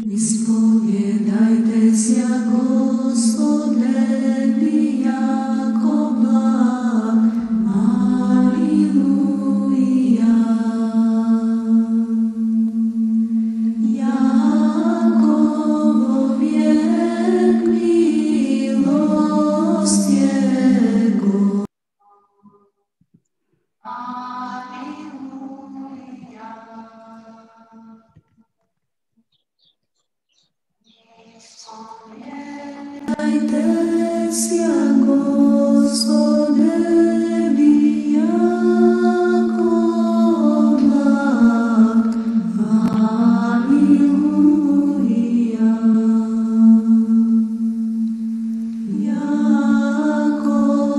Ispoviedajte sia Gospodevi jako blag. Aleluja. Jakovo vijek milost Jego. Dajte sia Gospodevi jako blag. Aleluja. Jakovo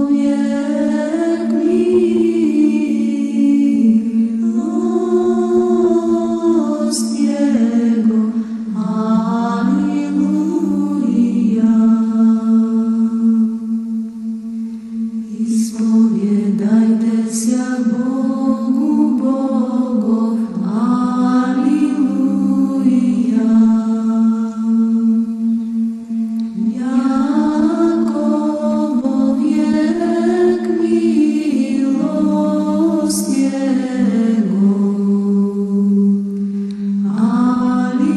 vijek milost Jego. Ispoviedajte sia Bogu bogov. Aleluja. Jakovo vijek milost Jego. Aleluja.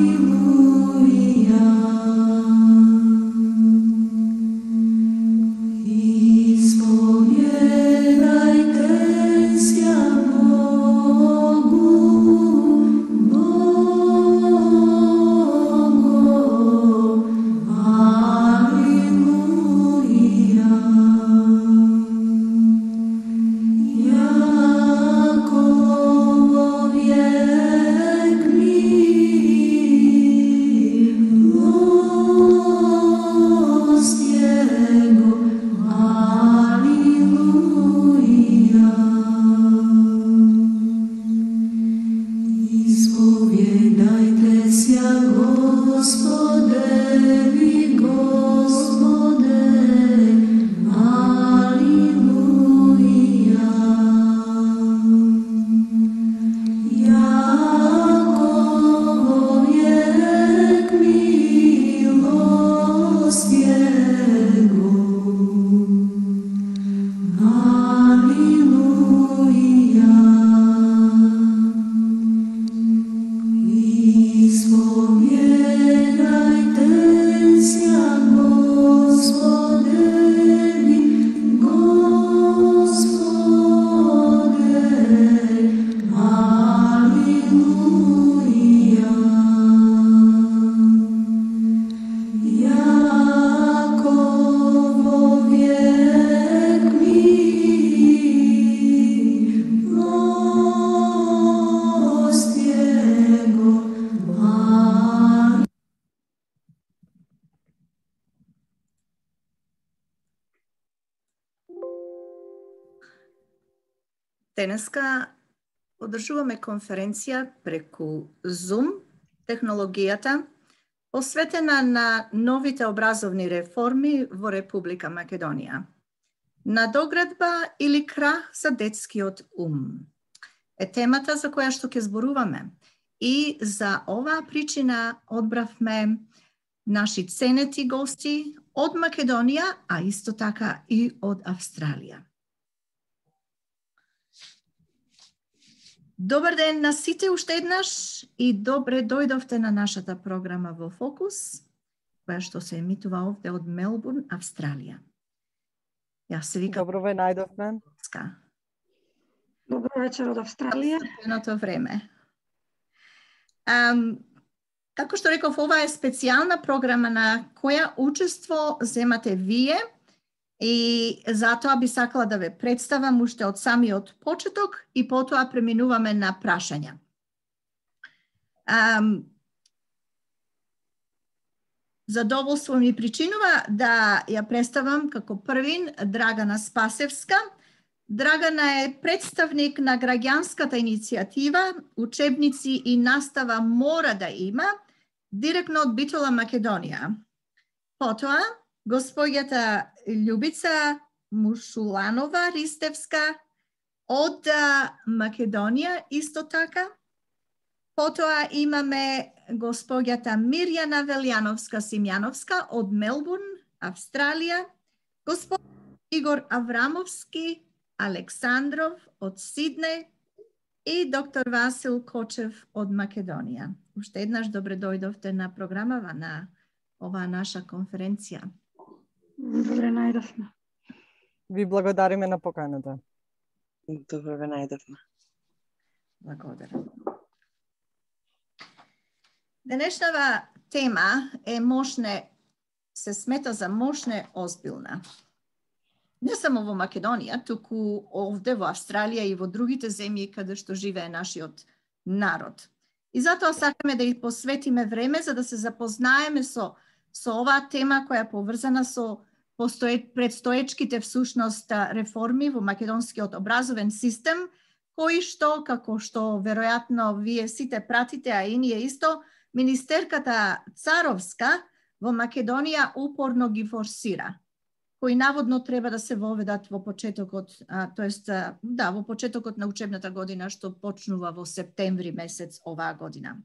Ispoviedajte sia Bogu bogov. Aleluja. Jakovo vijek milost Jego. Aleluja. Ispoviedajte sia Gospodevi, Gospode. Aleluja. Jakovo vijek milost Jego. Aleluja. Ispoviedajte sia Gospodevi, Gospode. Aleluja. Jakovo vijek milost Jego. Денеска одржуваме конференција преку Zoom, технологијата, посветена на новите образовни реформи во Република Македонија. Надоградба или крах за детскиот ум е темата за која што ќе зборуваме. И за оваа причина одбравме наши ценети гости од Македонија, а исто така и од Австралија. Добар ден на сите уште еднаш и добре дојдовте на нашата програма во Фокус, која што се емитува овде од Мелбурн, Австралија. Јас се викам Добро ве најдовме. Ска. Добро вечер од Австралија. Едното време. Како што реков, ова е специјална програма на која учество земате вие и затоа би сакала да ве представам уште од самиот почеток и потоа преминуваме на прашања. Задоволство ми причинува да ја представам како првин Драгана Спасевска. Драгана е представник на граѓанската иницијатива Учебници и настава мора да има, директно од Битола Македонија. Потоа, господјата Љубица Мушуланова Ристевска од Македонија исто така. Потоа имаме госпоѓата Мирјана Велјановска-Симјановска од Мелбурн, Австралија, господин Игор Аврамовски Александров од Сиднеј и доктор Васил Кочев од Македонија. Уште еднаш добре дојдовте на програмава на оваа наша конференција. Добре најдовме. Ви благодариме на поканата. Добре ве најдовме. Благодарам. Денешнава тема е мошне, се смета за мошне озбилна. Не само во Македонија, туку овде во Австралија и во другите земји каде што живее нашиот народ. И затоа сакаме да ја посветиме време за да се запознаеме со оваа тема која е поврзана со предстоечките всушност реформи во македонскиот образовен систем, кои што, како што веројатно вие сите пратите, а и ние исто, министерката Царовска во Македонија упорно ги форсира, кои наводно треба да се воведат во почетокот, во почетокот на учебната година што почнува во септември месец оваа година.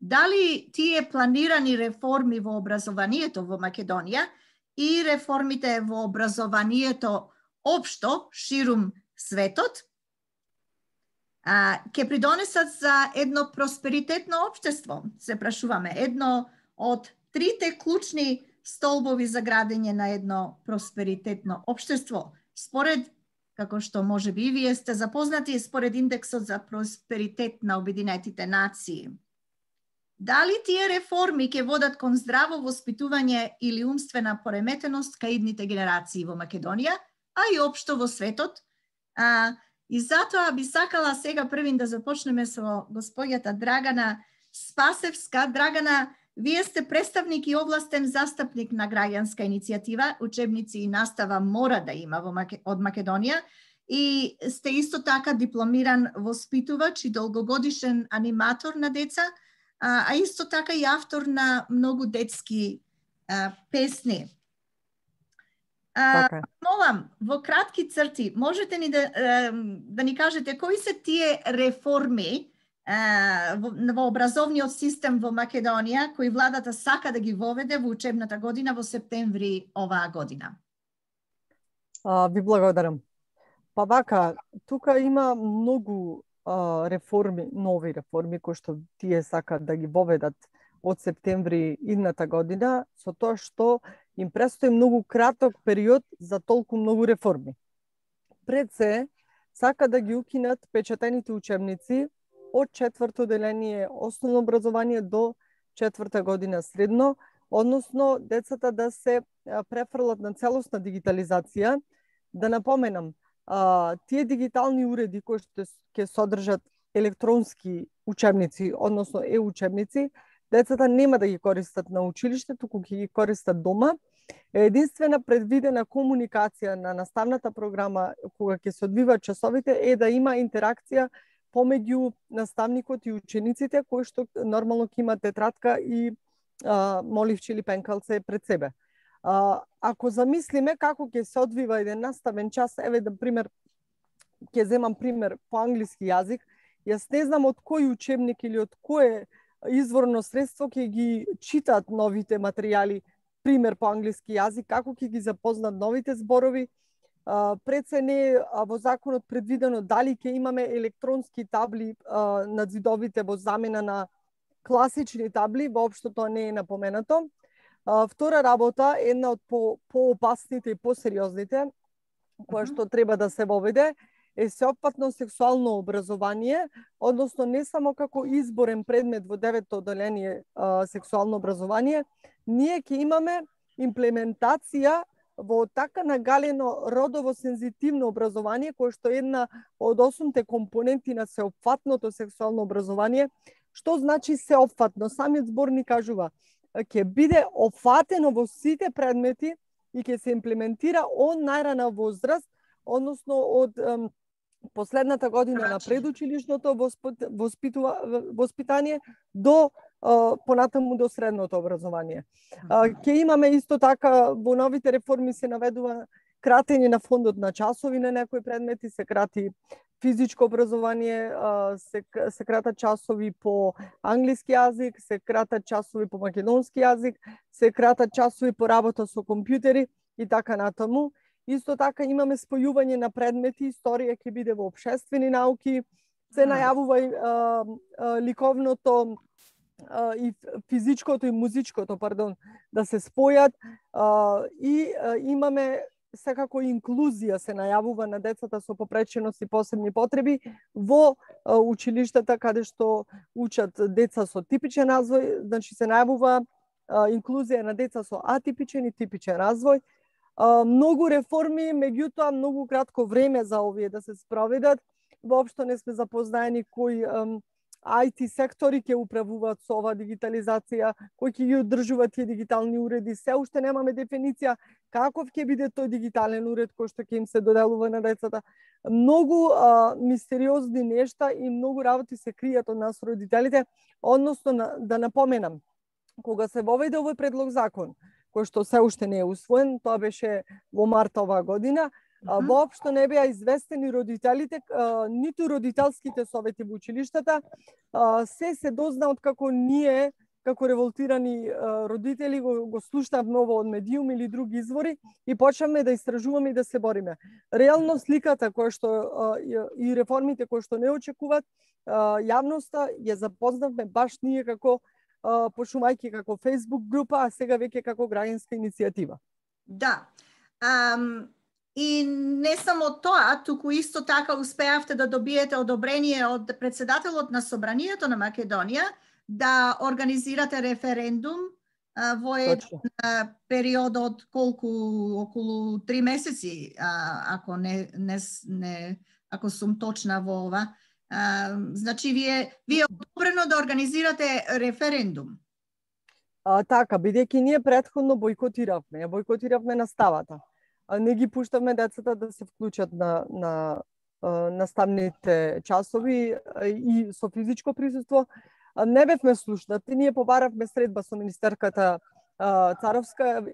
Дали тие планирани реформи во образованието во Македонија и реформите во образованието општо ширум светот ќе придонесат за едно просперитетно општество, се прашуваме, едно од трите клучни столбови за градење на едно просперитетно општество, според, како што може би и вие сте запознати, според индексот за просперитет на Обединетите нации. Дали тие реформи ќе водат кон здраво воспитување или умствена пореметеност кај идните генерации во Македонија, а и општо во светот? И затоа би сакала сега првин да започнеме со госпоѓата Драгана Спасевска. Драгана, вие сте представник и областен застапник на граѓанска иницијатива Учебници и настава мора да има од Македонија и сте исто така дипломиран воспитувач и долгогодишен аниматор на деца, а исто така и автор на многу детски песни. Молам, во кратки црти, можете ни да ни кажете кои се тие реформи во образовниот систем во Македонија кои владата сака да ги воведе во учебната година во септември оваа година? Ви благодарам. Па вака, тука има многу реформи, нови реформи кои што тие сакат да ги воведат од септември идната година, со тоа што им престои многу краток период за толку многу реформи. Пред се, сака да ги укинат печатените учебници од 4-то деление основно образование до 4-та година средно, односно децата да се префрлат на целосна дигитализација. Да напоменам, тие дигитални уреди кои што ќе содржат електронски учебници, односно учебници, децата нема да ги користат на училиште, туку ќе ги користат дома. Единствена предвидена комуникација на наставната програма кога ќе се одвива часовите е да има интеракција помеѓу наставникот и учениците кои што нормално ќе имат тетрадка и моливче или пенкалце пред себе. Ако замислиме како ќе се одвива еден наставен час, еве да пример, ќе земам пример по англиски јазик, јас не знам од кој учебник или од кое изворно средство ќе ги читат новите материјали, пример по англиски јазик, како ќе ги запознат новите зборови. Пред се не во законот предвидено дали ќе имаме електронски табли над зидовите во замена на класични табли, воопшто тоа не е напоменато. Втора работа, една од поопасните и посериозните, која што треба да се воведе, е сеопфатно сексуално образование, односно не само како изборен предмет во 9-то одделение сексуално образование, ние ќе имаме имплементација во така нагалено родово сензитивно образование, кое што е една од 8-те компоненти на сеопфатното сексуално образование. Што значи сеопфатно? Самиот збор ни кажува, ќе биде опфатено во сите предмети и ќе се имплементира од најрана возраст, односно од последната година на предучилишното воспитание до понатаму до средното образование. Ќе имаме исто така во новите реформи се наведува кратење на фондот на часови на некои предмети, се крати физичко образование, се кратат часови по англиски јазик, се кратат часови по македонски јазик, се кратат часови по работа со компјутери и така натаму. Исто така имаме спојување на предмети, историја ќе биде во општествени науки, се најавува ликовното и физичкото и музичкото, да се спојат и имаме секако инклузија се најавува на децата со попреченост и посебни потреби во училиштата каде што учат деца со типичен развој, значи се најавува инклузија на деца со атипичен и типичен развој. Многу реформи, меѓутоа многу кратко време за овие да се спроведат. Воопшто не сме запознаени кои IT сектори ќе управуваат со ова дигитализација, кои ќе ги одржуваат тие дигитални уреди. Се уште немаме дефиниција каков ќе биде тој дигитален уред кој што ќе им се доделува на децата. Многу мистериозни нешта и многу работи се кријат од нас родителите, односно да напоменам, кога се воведе овој предлог закон, кој што се уште не е усвоен, тоа беше во март оваа година, воопшто не беа известени родителите, ниту родителските совети во училиштата, се дозна од како ние, како револтирани родители, го слушнавме ово од медиум или други извори и почнавме да истражуваме и да се бориме. Реално сликата која што и реформите кои што не очекуваат јавноста ја запознавме баш ние како почнувајќи како Facebook група, а сега веќе како граѓанска иницијатива. Да. И не само тоа, туку исто така успеавте да добиете одобрение од председателот на Собранието на Македонија да организирате референдум во еден период од околу 3 месеци, ако ако сум точна во ова. Значи, вие одобрено да организирате референдум. Така, бидејќи ние претходно бојкотиравме наставата. Не ги пуштавме децата да се вклучат на наставните часови и со физичко присуство. Не бевме слушнати, ние побаравме средба со министерката Царовска,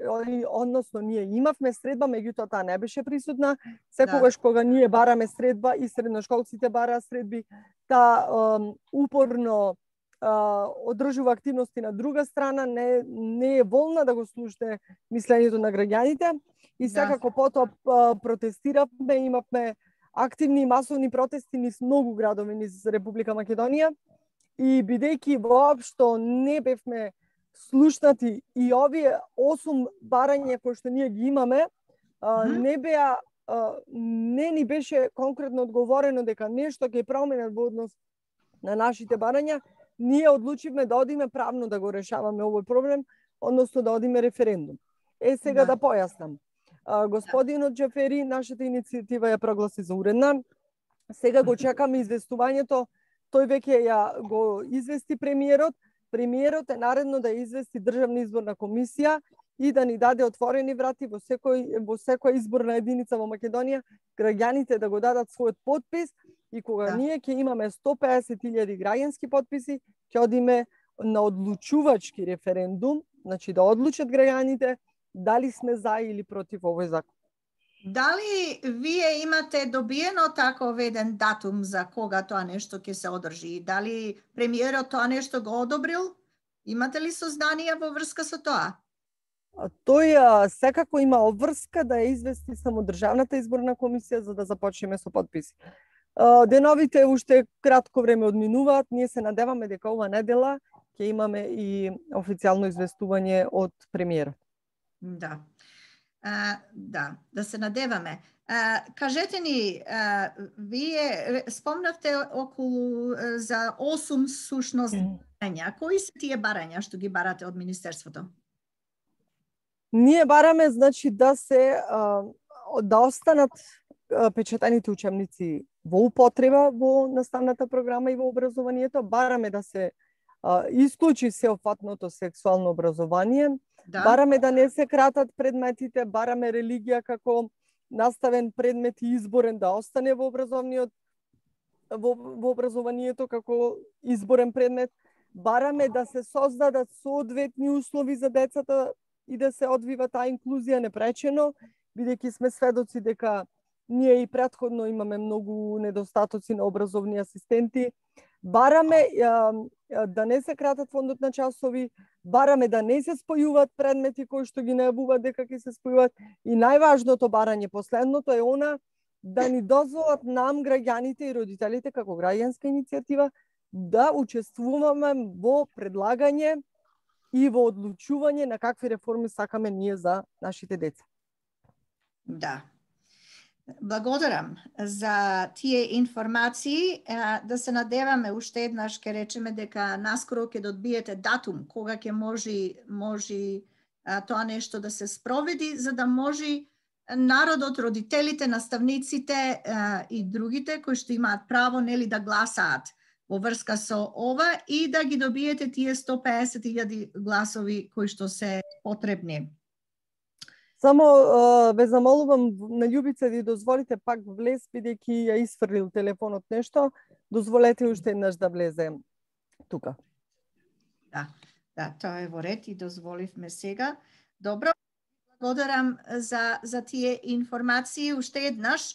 односно ние имавме средба, меѓутоа таа не беше присутна. Секогаш кога ние бараме средба и средношколците бараа средби, таа упорно одржува активности на друга страна, не е волна да го слушне мислењето на граѓаните и секако потоа протестиравме, имавме активни и масовни протести низ многу градови низ Република Македонија и бидејќи воопшто не бевме слушнати и овие 8 барања кои што ние ги имаме, не ни беше конкретно одговорено дека нешто ќе променат во однос на нашите барања, ние одлучивме да одиме правно да го решаваме овој проблем, односно да одиме референдум. Сега да појаснам. Господинот Џафери, нашата иницијатива ја прогласи за уредна. Сега го чекаме известувањето. Тој веќе ја го извести премиерот. Премиерот е наредно да извести Државна изборна комисија и да ни даде отворени врати во секоја изборна единица во Македонија, граѓаните да го дадат својот потпис и кога ние ќе имаме 150.000 граѓански потписи, ќе одиме на одлучувачки референдум, значи да одлучат граѓаните дали сме за или против овој закон. Дали вие имате добиено таков еден датум за кога тоа нешто ќе се одржи? Дали премиерот тоа нешто го одобрил? Имате ли сознанија во врска со тоа? Тој секако има обврска да ја извести само Државната изборна комисија за да започнеме со потписи. Деновите уште кратко време одминуваат, ние се надеваме дека ова недела ќе имаме и официјално известување од премиерот. Да се надеваме. Кажете ни, вие спомнавте околу за 8 сушност барања. Кои се тие барања што ги барате од Министерството? Ние бараме, значи, да останат печатаните учебници во употреба во наставната програма и во образованието. Бараме да се исклучи сеопфатното сексуално образование. Бараме да не се кратат предметите, бараме религија како наставен предмет и изборен да остане во образованието како изборен предмет. Бараме да се создадат соодветни услови за децата и да се одвива таа инклузија непречено бидејќи сме сведоци дека ние и претходно имаме многу недостатоци на образовни асистенти. Бараме да не се кратат фондот на часови, бараме да не се спојуваат предмети кои што ги најавуваат дека ќе се спојуваат и најважното барање, последното е она да ни дозволат нам, граѓаните и родителите, како граѓанска иницијатива, да учествуваме во предлагање и во одлучување на какви реформи сакаме ние за нашите деца. Да. Благодарам за тие информации. Да се надеваме уште еднаш ќе речеме дека наскоро ќе добиете датум кога ќе може тоа нешто да се спроведи, за да може народот, родителите, наставниците и другите кои што имаат право нели да гласаат во врска со ова и да ги добиете тие 150.000 гласови кои што се потребни. Само ве замолувам на Љубица да дозволите пак влез, бидејќи ја исфрлил телефонот нешто, дозволете уште еднаш да влезе тука. Да, тоа е во ред и дозволивме сега. Добро, благодарам за тие информации. Уште еднаш,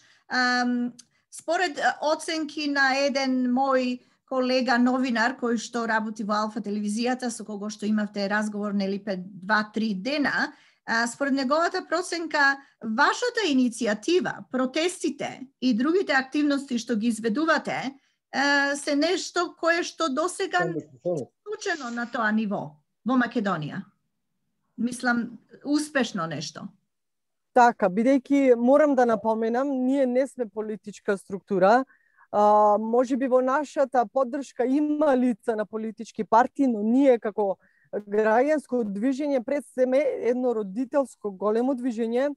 според оценки на еден мој колега новинар кој што работи во Алфа телевизијата, со кого што имавте разговор нели пред 2-3 дена, според неговата проценка, вашата иницијатива, протестите и другите активности што ги изведувате, се нешто кое што досега не е случено на тоа ниво во Македонија. Мислам, успешно нешто. Така, бидејќи морам да напоменам, ние не сме политичка структура. Може би во нашата поддршка има лица на политички партии, но ние како граѓанско движење пред сме едно родителско големо движење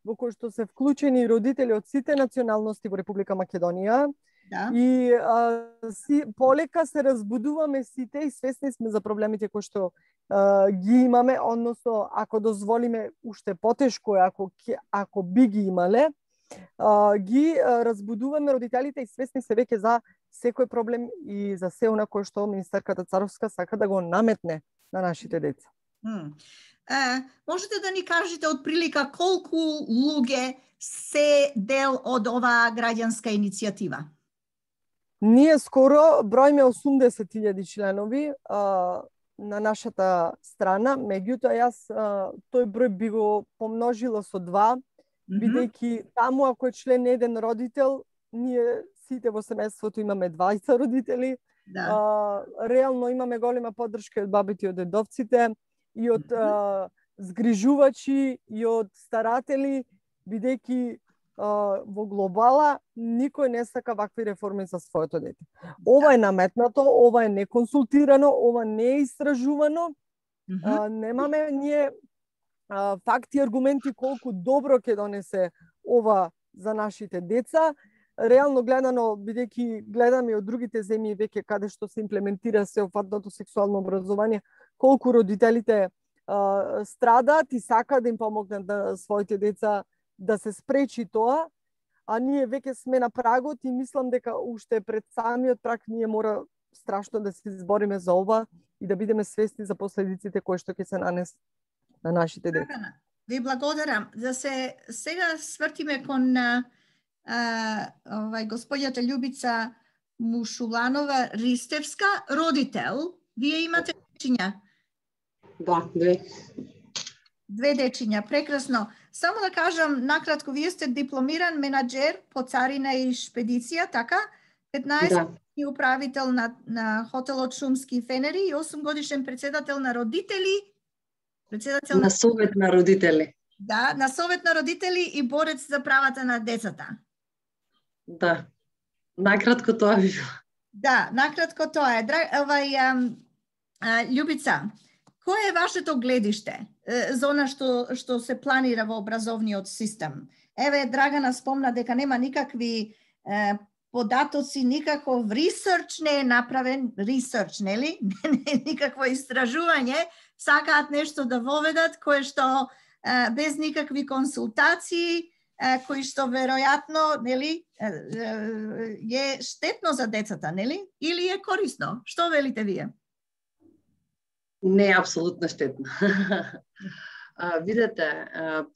во кое што се вклучени родители од сите националности во Република Македонија. Да. И полека се разбудуваме сите и свесни сме за проблемите кои што ги имаме, односно ако дозволиме уште потешко е ако би ги имале, ги разбудуваме родителите и свесни се веќе за секој проблем и за се она кое што министарката Царовска сака да го наметне на нашите деца. Можете да ни кажете од прилика колку луѓе се дел од оваа граѓанска иницијатива? Ние скоро броиме 80.000 членови на нашата страна, меѓутоа јас тој број би го помножила со 2, бидејќи таму ако е член еден родител, ние сите во семејството имаме 20 родители. Да. Реално имаме голема поддршка од бабите и од дедовците и од згрижувачи и од старатели, бидејќи во глобала никој не сака вакви реформи за своето дете. Ова е наметнато, ова е неконсултирано, ова не е истражувано. Немаме ние факти и аргументи колку добро ќе донесе ова за нашите деца. Реално гледано, бидејќи гледаме од другите земји веќе каде што се имплементира сеопфатното сексуално образование, колку родителите страдаат и сакаат да им помогнат на своите деца да се спречи тоа, а ние веќе сме на прагот и мислам дека уште пред самиот праг ние мора страшно да се избориме за ова и да бидеме свесни за последиците кои што ќе се нанесат на нашите деца. Ви благодарам. Да се сега свртиме кон господјата Љубица Мушуланова Ристевска, родител. Вие имате дечиња? Да, 2. 2 дечиња, прекрасно. Само да кажам накратко, вие сте дипломиран менаџер по царина и шпедиција, така? 15 години управител на хотелот Шумски Фенери и 8 годишен председател на родители. На совет на родители. Да, на совет на родители и борец за правата на децата. Да. Накратко тоа би било. Да, накратко тоа е. Љубица, кое е вашето гледиште за она што се планира во образовниот систем? Еве, Драгана спомна дека нема никакви податоци, никаков ресерч не е направен, ресерч, нели? Не е никакво истражување, сакаат нешто да воведат кое што без никакви консултации, кои што веројатно, нели, е штетно за децата, нели? Или е корисно? Што велите вие? Не е апсолутно штетно. Видете,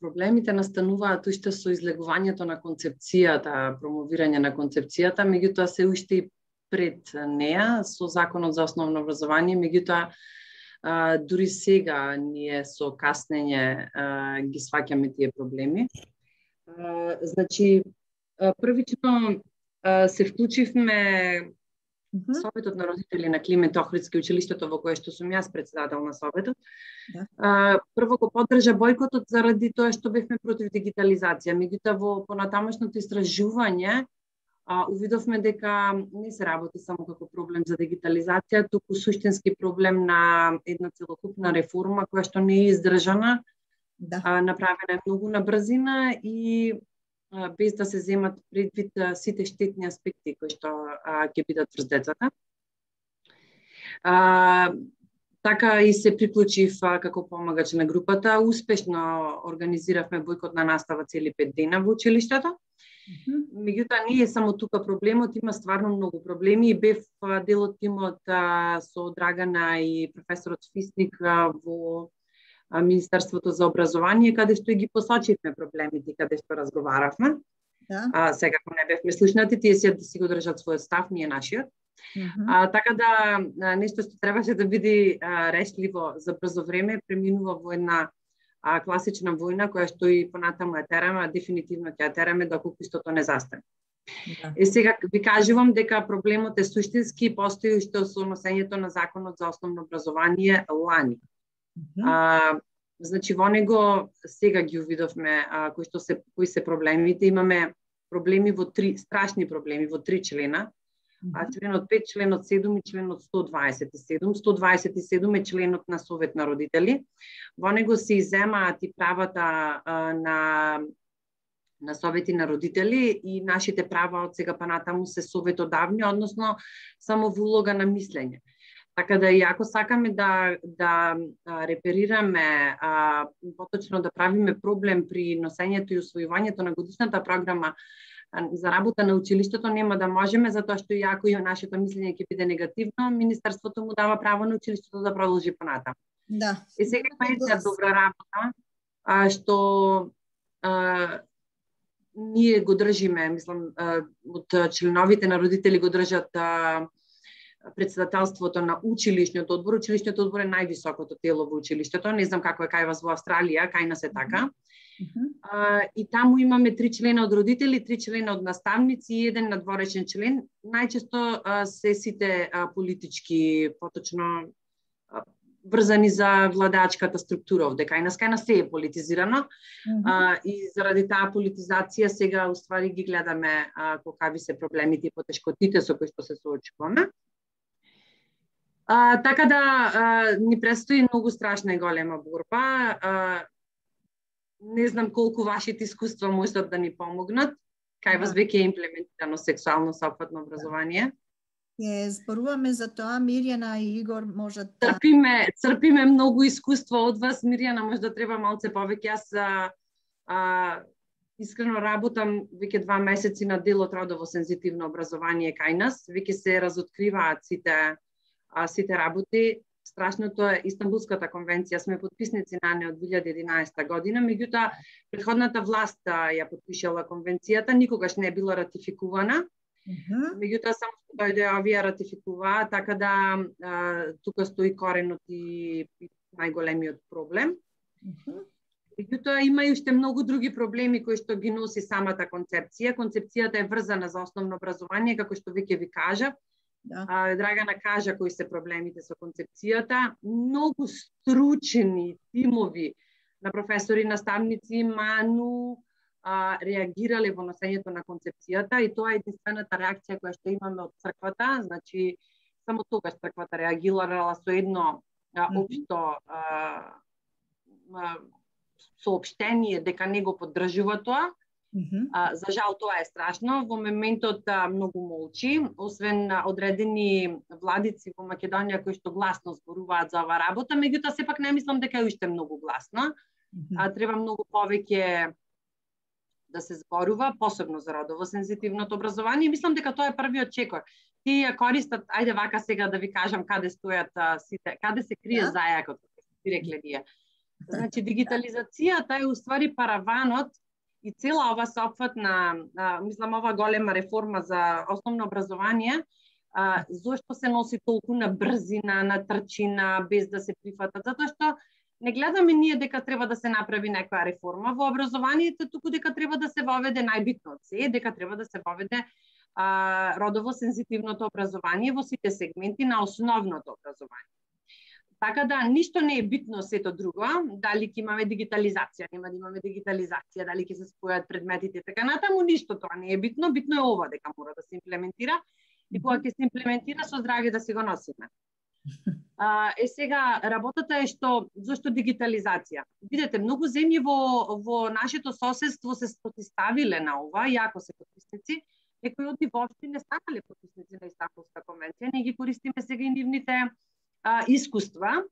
проблемите настануваат уште со излегувањето на концепцијата, промовирање на концепцијата, меѓутоа се уште и пред неа со Законот за основно образование, меѓутоа дури сега ние со каснење ги сваќаме тие проблеми. Значи, првично се вклучивме Советот на родители на Климент Охридски, училиштето во кое што сум јас председател на Советот. Да. Прво го поддржа бојкотот заради тоа што бевме против дигитализација. Меѓутоа во понатамошното истражување увидовме дека не се работи само како проблем за дигитализација, туку суштински проблем на една целокупна реформа која што не е издржана, направена е многу на брзина и без да се земат предвид сите штетни аспекти кои што ќе бидат врз децата. Така и се приклучив како помагач на групата. Успешно организиравме бојкот на настава цели 5 дена во училиштето. Меѓутоа не е само тука проблемот, има стварно многу проблеми и бев дел од тимот со Драгана и професорот Фисник во Министерството за образование, каде што ги посочивме проблемите, каде што разговаравме. Да. Сега ако не бевме слушнати, тие си го држат својот став, ние нашиот. Така да нешто што требаше да биде решливо за брзо време, преминува во една класична војна, која што и понатаму ја тераме, дефинитивно ќе ја тераме доколку истото не застане. Да. Сега ви кажувам дека проблемот е суштински, постои уште со носењето на Законот за основно образование лани. Значи во него сега ги увидовме кои се проблемите. Имаме проблеми страшни проблеми во 3 члена. Членот 5, членот 7 и членот 127. 127 е членот на Совет на родители. Во него се иземаат и правата на совети на родители и нашите права од сега па натаму се советодавни, односно само во улога на мислење. Така да и ако сакаме да реперираме, поточно да правиме проблем при носењето и усвојувањето на годишната програма за работа на училиштето, нема да можеме, затоа што и ако и нашето мислење ќе биде негативно, Министерството му дава право на училиштето да продолжи понатаму. Да. И сега има една добра работа, што ние го држиме, мислам, од членовите на родители го држат председателството на училишниот одбор. Училишниот одбор е највисокото тело во училиштето. Не знам како е кај вас во Австралија, кај нас е така. И таму имаме 3 члена од родители, 3 члена од наставници и 1 надворешен член. Најчесто се сите политички, поточно врзани за владачката структура овде. Кај нас се е политизирано. И заради таа политизација сега уствари ги гледаме какви се проблемите и потешкотите со кои што се соочуваме. Така да ни престои многу страшна и голема борба. Не знам колку вашите искуства можат да ни помогнат. Кај вас веќе е имплементирано сексуално сопатно образование? Зборуваме за тоа, Мирјана и Игор можат да... Црпиме многу искуство од вас. Мирјана може да треба малце повеќе. Јас искрено работам веќе 2 месеци на дел од родово сензитивно образование кај нас. Веќе се разоткриваат сите работи. Страшното е Истанбулската конвенција, сме подписници на неа од 2011 година, меѓутоа претходната власт ја подпишала конвенцијата, никогаш не е била ратификувана. Меѓутоа само што дојде овие ратификуваа, така да тука стои коренот и најголемиот проблем. Меѓутоа има и уште многу други проблеми кои што ги носи самата концепција. Концепцијата е врзана за основно образование, како што веќе ви кажа. Драгана кажа кои се проблемите со концепцијата. Многу стручени тимови на професори, наставници, ману реагирале во носењето на концепцијата и тоа е единствената реакција која што имаме од црквата. Значи, само тогаш црквата реагирала со едно општо соопштение дека не го поддржува тоа. За жал тоа е страшно. Во моментот многу молчи, освен одредени владици во Македонија кои што гласно зборуваат за оваа работа, меѓутоа сепак не мислам дека е уште многу гласно. Треба многу повеќе да се зборува, посебно за родово сензитивното образование. Мислам дека тоа е првиот чекор. Тие ја користат, ајде вака сега да ви кажам каде стојат сите, каде се крие зајакот, како ви рекле ние. Значи, дигитализацијата е уствари параванот и цела ова сеопфатна, мислам, ова голема реформа за основно образование, зошто се носи толку на брзина, на трчина, без да се прифатат? Затоа што не гледаме ние дека треба да се направи некоја реформа во образованието, туку дека треба да се воведе најбитно од се, дека треба да се воведе родово сензитивното образование во сите сегменти на основното образование. Така да, ништо не е битно сето друго, дали ќе имаме дигитализација, нема да имаме дигитализација, дали ќе се спојат предметите, така натаму, ништо тоа не е битно, битно е ова дека мора да се имплементира и кога ќе се имплементира со здравје да се го носиме. Сега, работата е што, зашто дигитализација? Видете, многу земји во нашето соседство се протиставиле на ова, иако се потписници, некои од нив воопшто не станале потписници на Истанбулска конвенција, ние ги користиме сега и нивните искуства,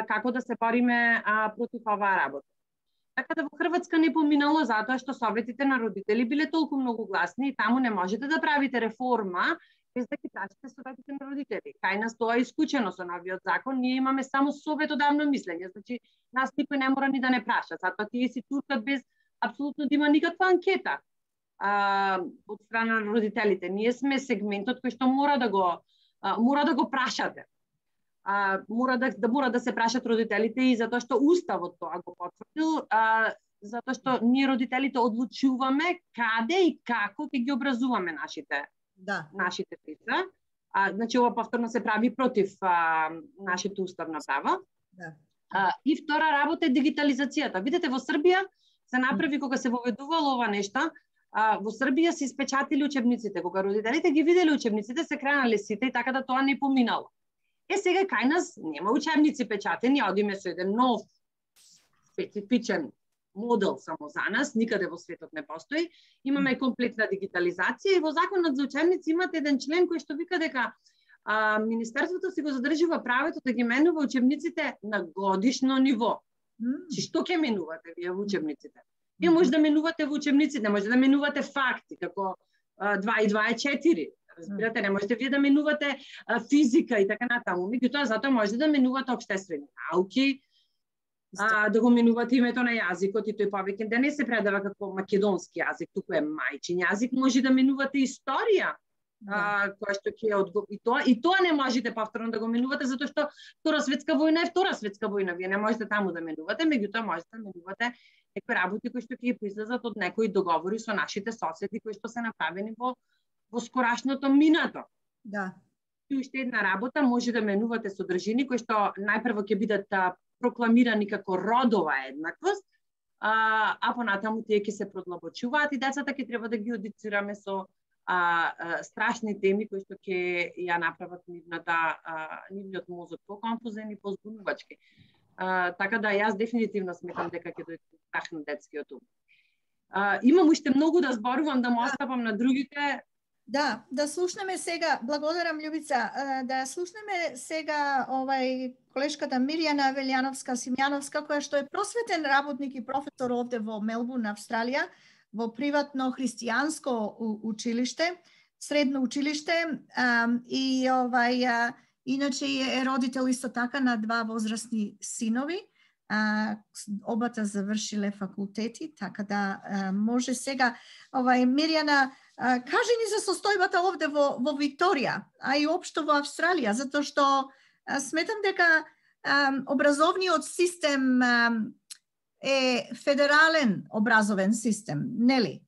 како да се бориме против оваа работа. Така да во Хрватска не поминало затоа што советите на родители биле толку многу гласни и таму не можете да правите реформа без да ги прашате советите на родители. Кај нас тоа е исклучено со новиот закон, ние имаме само совет одавно мислење, значи нас никој не мора ни да не праша, затоа тие си туркат без апсолутно да има никаква анкета од страна на родителите. Ние сме сегментот кој што мора да го прашате. Мора да се прашат родителите и затоа што уставот тоа го потврдил, затоа што ние родителите одлучуваме каде и како ќе ги образуваме нашите деца. Значи ова повторно се прави против нашето уставно право. И втора работа е дигитализацијата. Видете, во Србија се направи кога се воведувало ова нешто, во Србија се испечатили учебниците. Кога родителите ги виделе учебниците, се кренале сите и така да тоа не поминало. Сега кај нас нема учебници печатени, одиме со еден нов специфичен модел само за нас, никаде во светот не постои. Имаме комплетна дигитализација и во законот за учебници имате еден член кој што вика дека Министерството си го задржува правото да ги менува учебниците на годишно ниво. Чи што ќе менувате вие во учебниците? Вие може да менувате во учебниците, може да менувате факти, како 2 и 2 е 4. Разбирате, не можете вие да менувате физика и така натаму. Меѓутоа, затоа можете да менувате општествени науки, да го менувате името на јазикот и тој повеќе да не се предава како македонски јазик, туку е мајчин јазик, може да менувате историја, која што ќе и тоа не можете повторно да го менувате затоа што Втора светска војна е Втора светска војна, вие не можете таму да менувате, меѓутоа можете да менувате некои работи кои што ќе произлезат од некои договори со нашите соседи кои што се направени во скорашното минато. И уште една работа, може да менувате содржини кои што најпрво ќе бидат прокламирани како родова еднаквост, а понатаму тие ќе се продлабочуваат и децата ќе треба да ги одицираме со страшни теми кои што ќе ја направат нивниот мозок поконфузен и позбунувачки. Така да јас дефинитивно сметам дека ќе дојде страх на детскиот ум. Имам уште многу да зборувам, да му оставам на другите. Да слушнеме сега, благодарам Љубица, да слушнеме сега колешката Мирјана Велјановска-Симјановска, која што е просветен работник и професор овде во Мелбурн, Австралија, во приватно христијанско училиште, средно училиште, и иначе е родител исто така на 2 возрастни синови. Обата завршиле факултети, така да може сега Мирјана, кажи ни за состојбата овде во Викторија, а и општо во Австралија, затоа што сметам дека образовниот систем е федерален образовен систем, нели?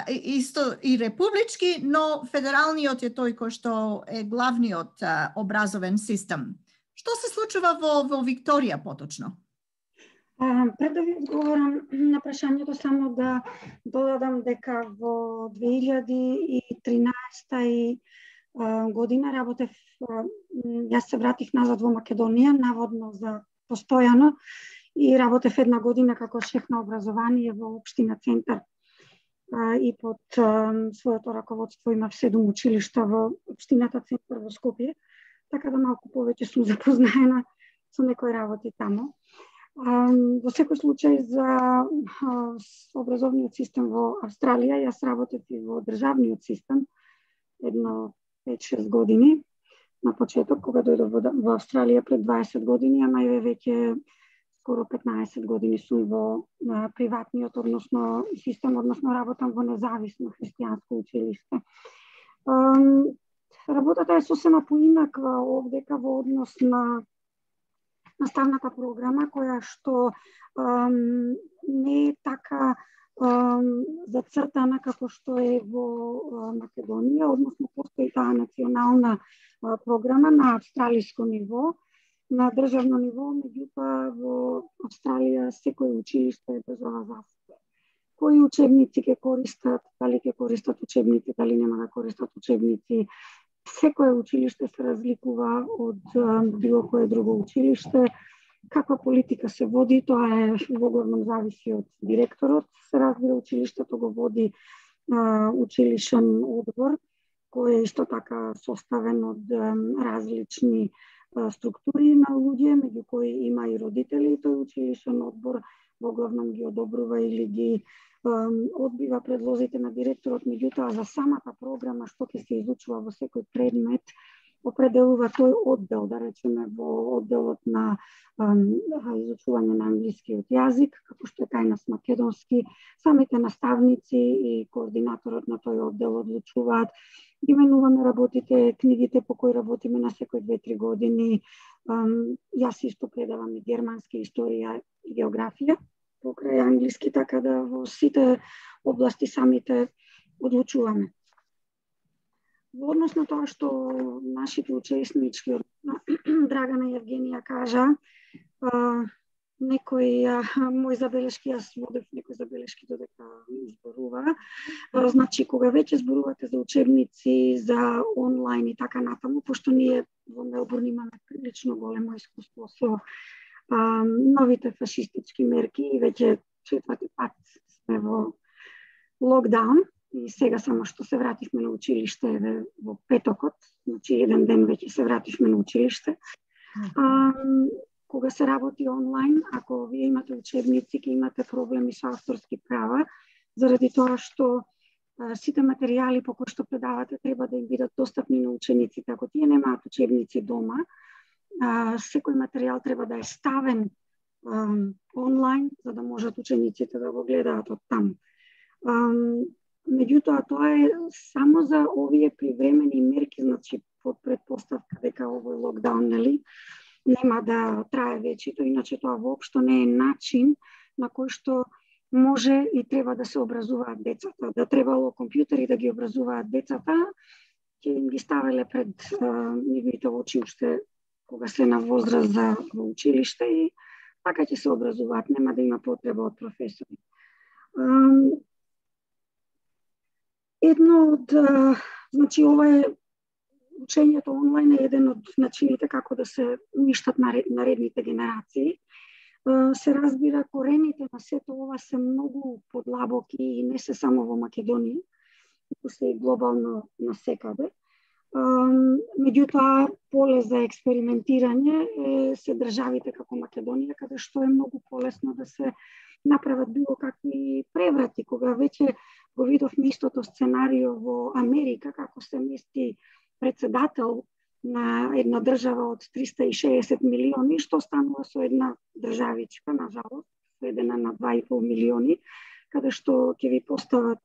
Исто и републички, но федералниот е тој кој што е главниот образовен систем. Што се случува во Викторија поточно? Пред да ви одговорам на прашањето, само да додадам дека во 2013 година работев, јас се вратив назад во Македонија, наводно за постојано, и работев 1 година како шеф на образование во општина Центар и под своето раководство имав 7 училишта во општината Центар во Скопје, така да малку повеќе сум запознаена со некои работи таму. Во секој случај за образовниот систем во Австралија, јас работев и во државниот систем едно 5-6 години на почеток, кога дојдов во Австралија пред 20 години, ама и веќе скоро 15 години сум во приватниот, односно систем, односно работам во независно христијанско училиште. Работата е сосема поинаква овдека во однос на наставната програма, која што не е така зацртана како што е во Македонија, односно постои таа национална програма на австралиско ниво, на државно ниво, меѓутоа во Австралија секој училиште држава за себе. Кои учебници ќе користат, дали ќе користат учебници, дали нема да користат учебници. Секое училиште се разликува од било кое друго училиште. Каква политика се води, тоа е во главном зависи од директорот. Се разбира, училиштето го води училишен одбор, кој е исто така составен од различни структури на луѓе, меѓу кои има и родители, и тој училишен одбор во главном ги одобрува или ги одбива предлозите на директорот, меѓутоа за самата програма што ќе се изучува во секој предмет определува тој оддел, да речеме во одделот на изучување на англискиот јазик, како што е кај нас македонски, самите наставници и координаторот на тој оддел одлучуваат. Именуваме работите, книгите по кои работиме на секој 2-3 години. Јас исто предавам и германски, историја и географија покрај англиски, така да во сите области самите одлучуваме. Во однос на тоа што нашите учеснички, Драгана и Евгенија кажа, некои мои забелешки, јас водев некои забелешки додека зборува. Значи, кога веќе зборувате за учебници, за онлайн и така натаму, пошто ние во Мелбурн имаме прилично големо искуство со новите фашистички мерки и веќе 4-ти пат сме во локдаун и сега само што се вративме на училиште во петокот, значи еден ден веќе се вративме на училиште. Кога се работи онлайн, ако вие имате учебници, ќе имате проблеми со авторски права, заради тоа што сите материјали по кои што предавате треба да им бидат достапни на учениците. Ако тие немаат учебници дома, секој материјал треба да е ставен онлайн, за да можат учениците да го гледаат од таму. Меѓутоа, тоа е само за овие привремени мерки, значи под предпоставка дека овој локдаун, нели, нема да трае вечето, иначе тоа воопшто не е начин на кој што може и треба да се образуваат децата. Да требало компјутери да ги образуваат децата, ќе им ги ставеле пред нивните очи уште кога се на возраст за училиште и така ќе се образуваат, нема да има потреба од професори. Едно од, значи ова е учењето онлайн е еден од начините како да се уништат наредните генерации. Се разбира, корените на сето ова се многу подлабоки и не се само во Македонија, туку се и глобално насекаде. Меѓутоа, поле за експериментирање се државите како Македонија, каде што е многу полесно да се направат било какви преврати. Кога веќе го видовме истото сценарио во Америка, како се мести председател на една држава од 360 милиони, што станува со една државичка, на жалост, сведена на 2,5 милиони, каде што ќе ви постават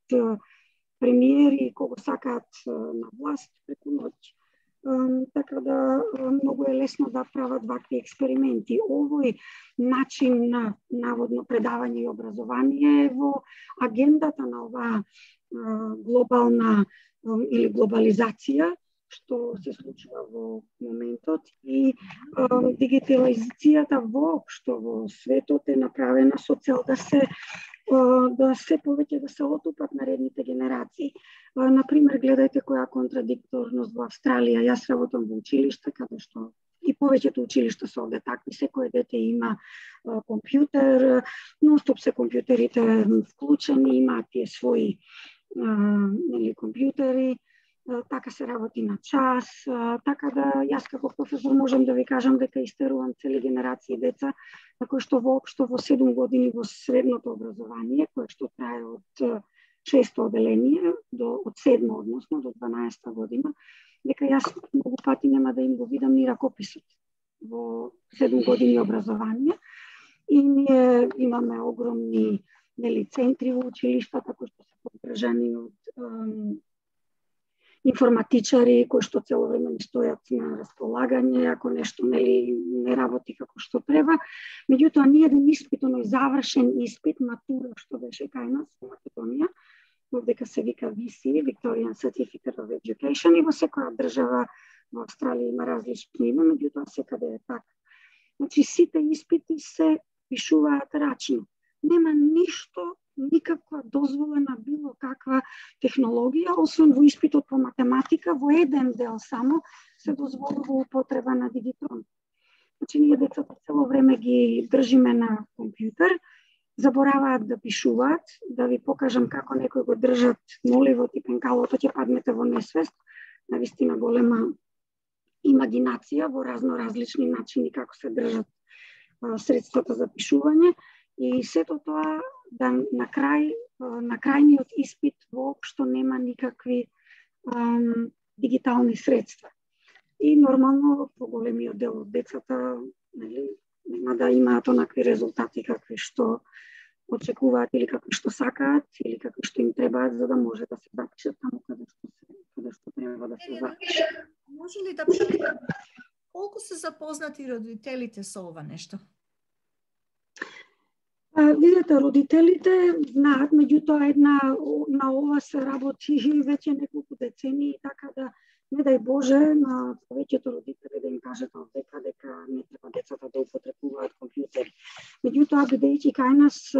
премиери кого сакаат на власт преку ноќ. Така да многу е лесно да прават вакви експерименти. Овој начин на наводно предавање и образование е во агендата на оваа глобална или глобализација, што се случува во моментот, и дигитализацијата воопшто во светот е направена со цел да се повеќе да се отупат наредните генерации. Например, гледајте која контрадикторност во Австралија. Јас работам во училиште, каде што и повеќето училишта се овде такви. Секој дете има компјутер, нонстоп се компјутерите вклучени, имаат тие своји компјутери, така се работи на час, така да јас како професор можам да ви кажам дека истерувам цели генерации деца, на кои што воопшто во 7 години во средното образование, кое што трае од 6 оделение од 7 односно до 12 година, дека јас многу пати нема да им го видам ни ракописот во 7 години образование. И ние имаме огромни центри во училиштата кои што се поддржани од информатичари кои што цело време не стојат на располагање ако нешто не работи како што треба. Меѓутоа ни еден испит, оној завршен испит, матура што беше кај нас во Македонија, овдека се вика VC, Victorian Certificate of Education, и во секоја држава во Австралија има различно име, меѓутоа секаде е така. Значи сите испити се пишуваат рачно. Нема ништо, никаква дозволена било каква технологија, освен во испитот по математика, во еден дел само се дозволува употреба на дигитрон. Значи ние децата цело време ги држиме на компјутер, забораваат да пишуваат, да ви покажам како некои го држат моливот и пенкалото, ќе паднете во несвест, навистина голема имагинација во различни начини како се држат средствата за пишување. И сето тоа да на крајниот испит воопшто нема никакви дигитални средства. И нормално поголемиот дел од децата нема да имаат онакви резултати какви што очекуваат или какви што сакаат или какви што им требаат за да може да се запишат таму каде што треба да се запишат. Може ли да питам колку се запознати родителите со ова нешто? Видете, родителите знаат, меѓутоа на ова се работи веќе неколку децении, така да не дај Боже на повеќето родители да им кажат овдека дека не треба децата да употребуваат компјутери. Меѓутоа, бидејќи кај нас,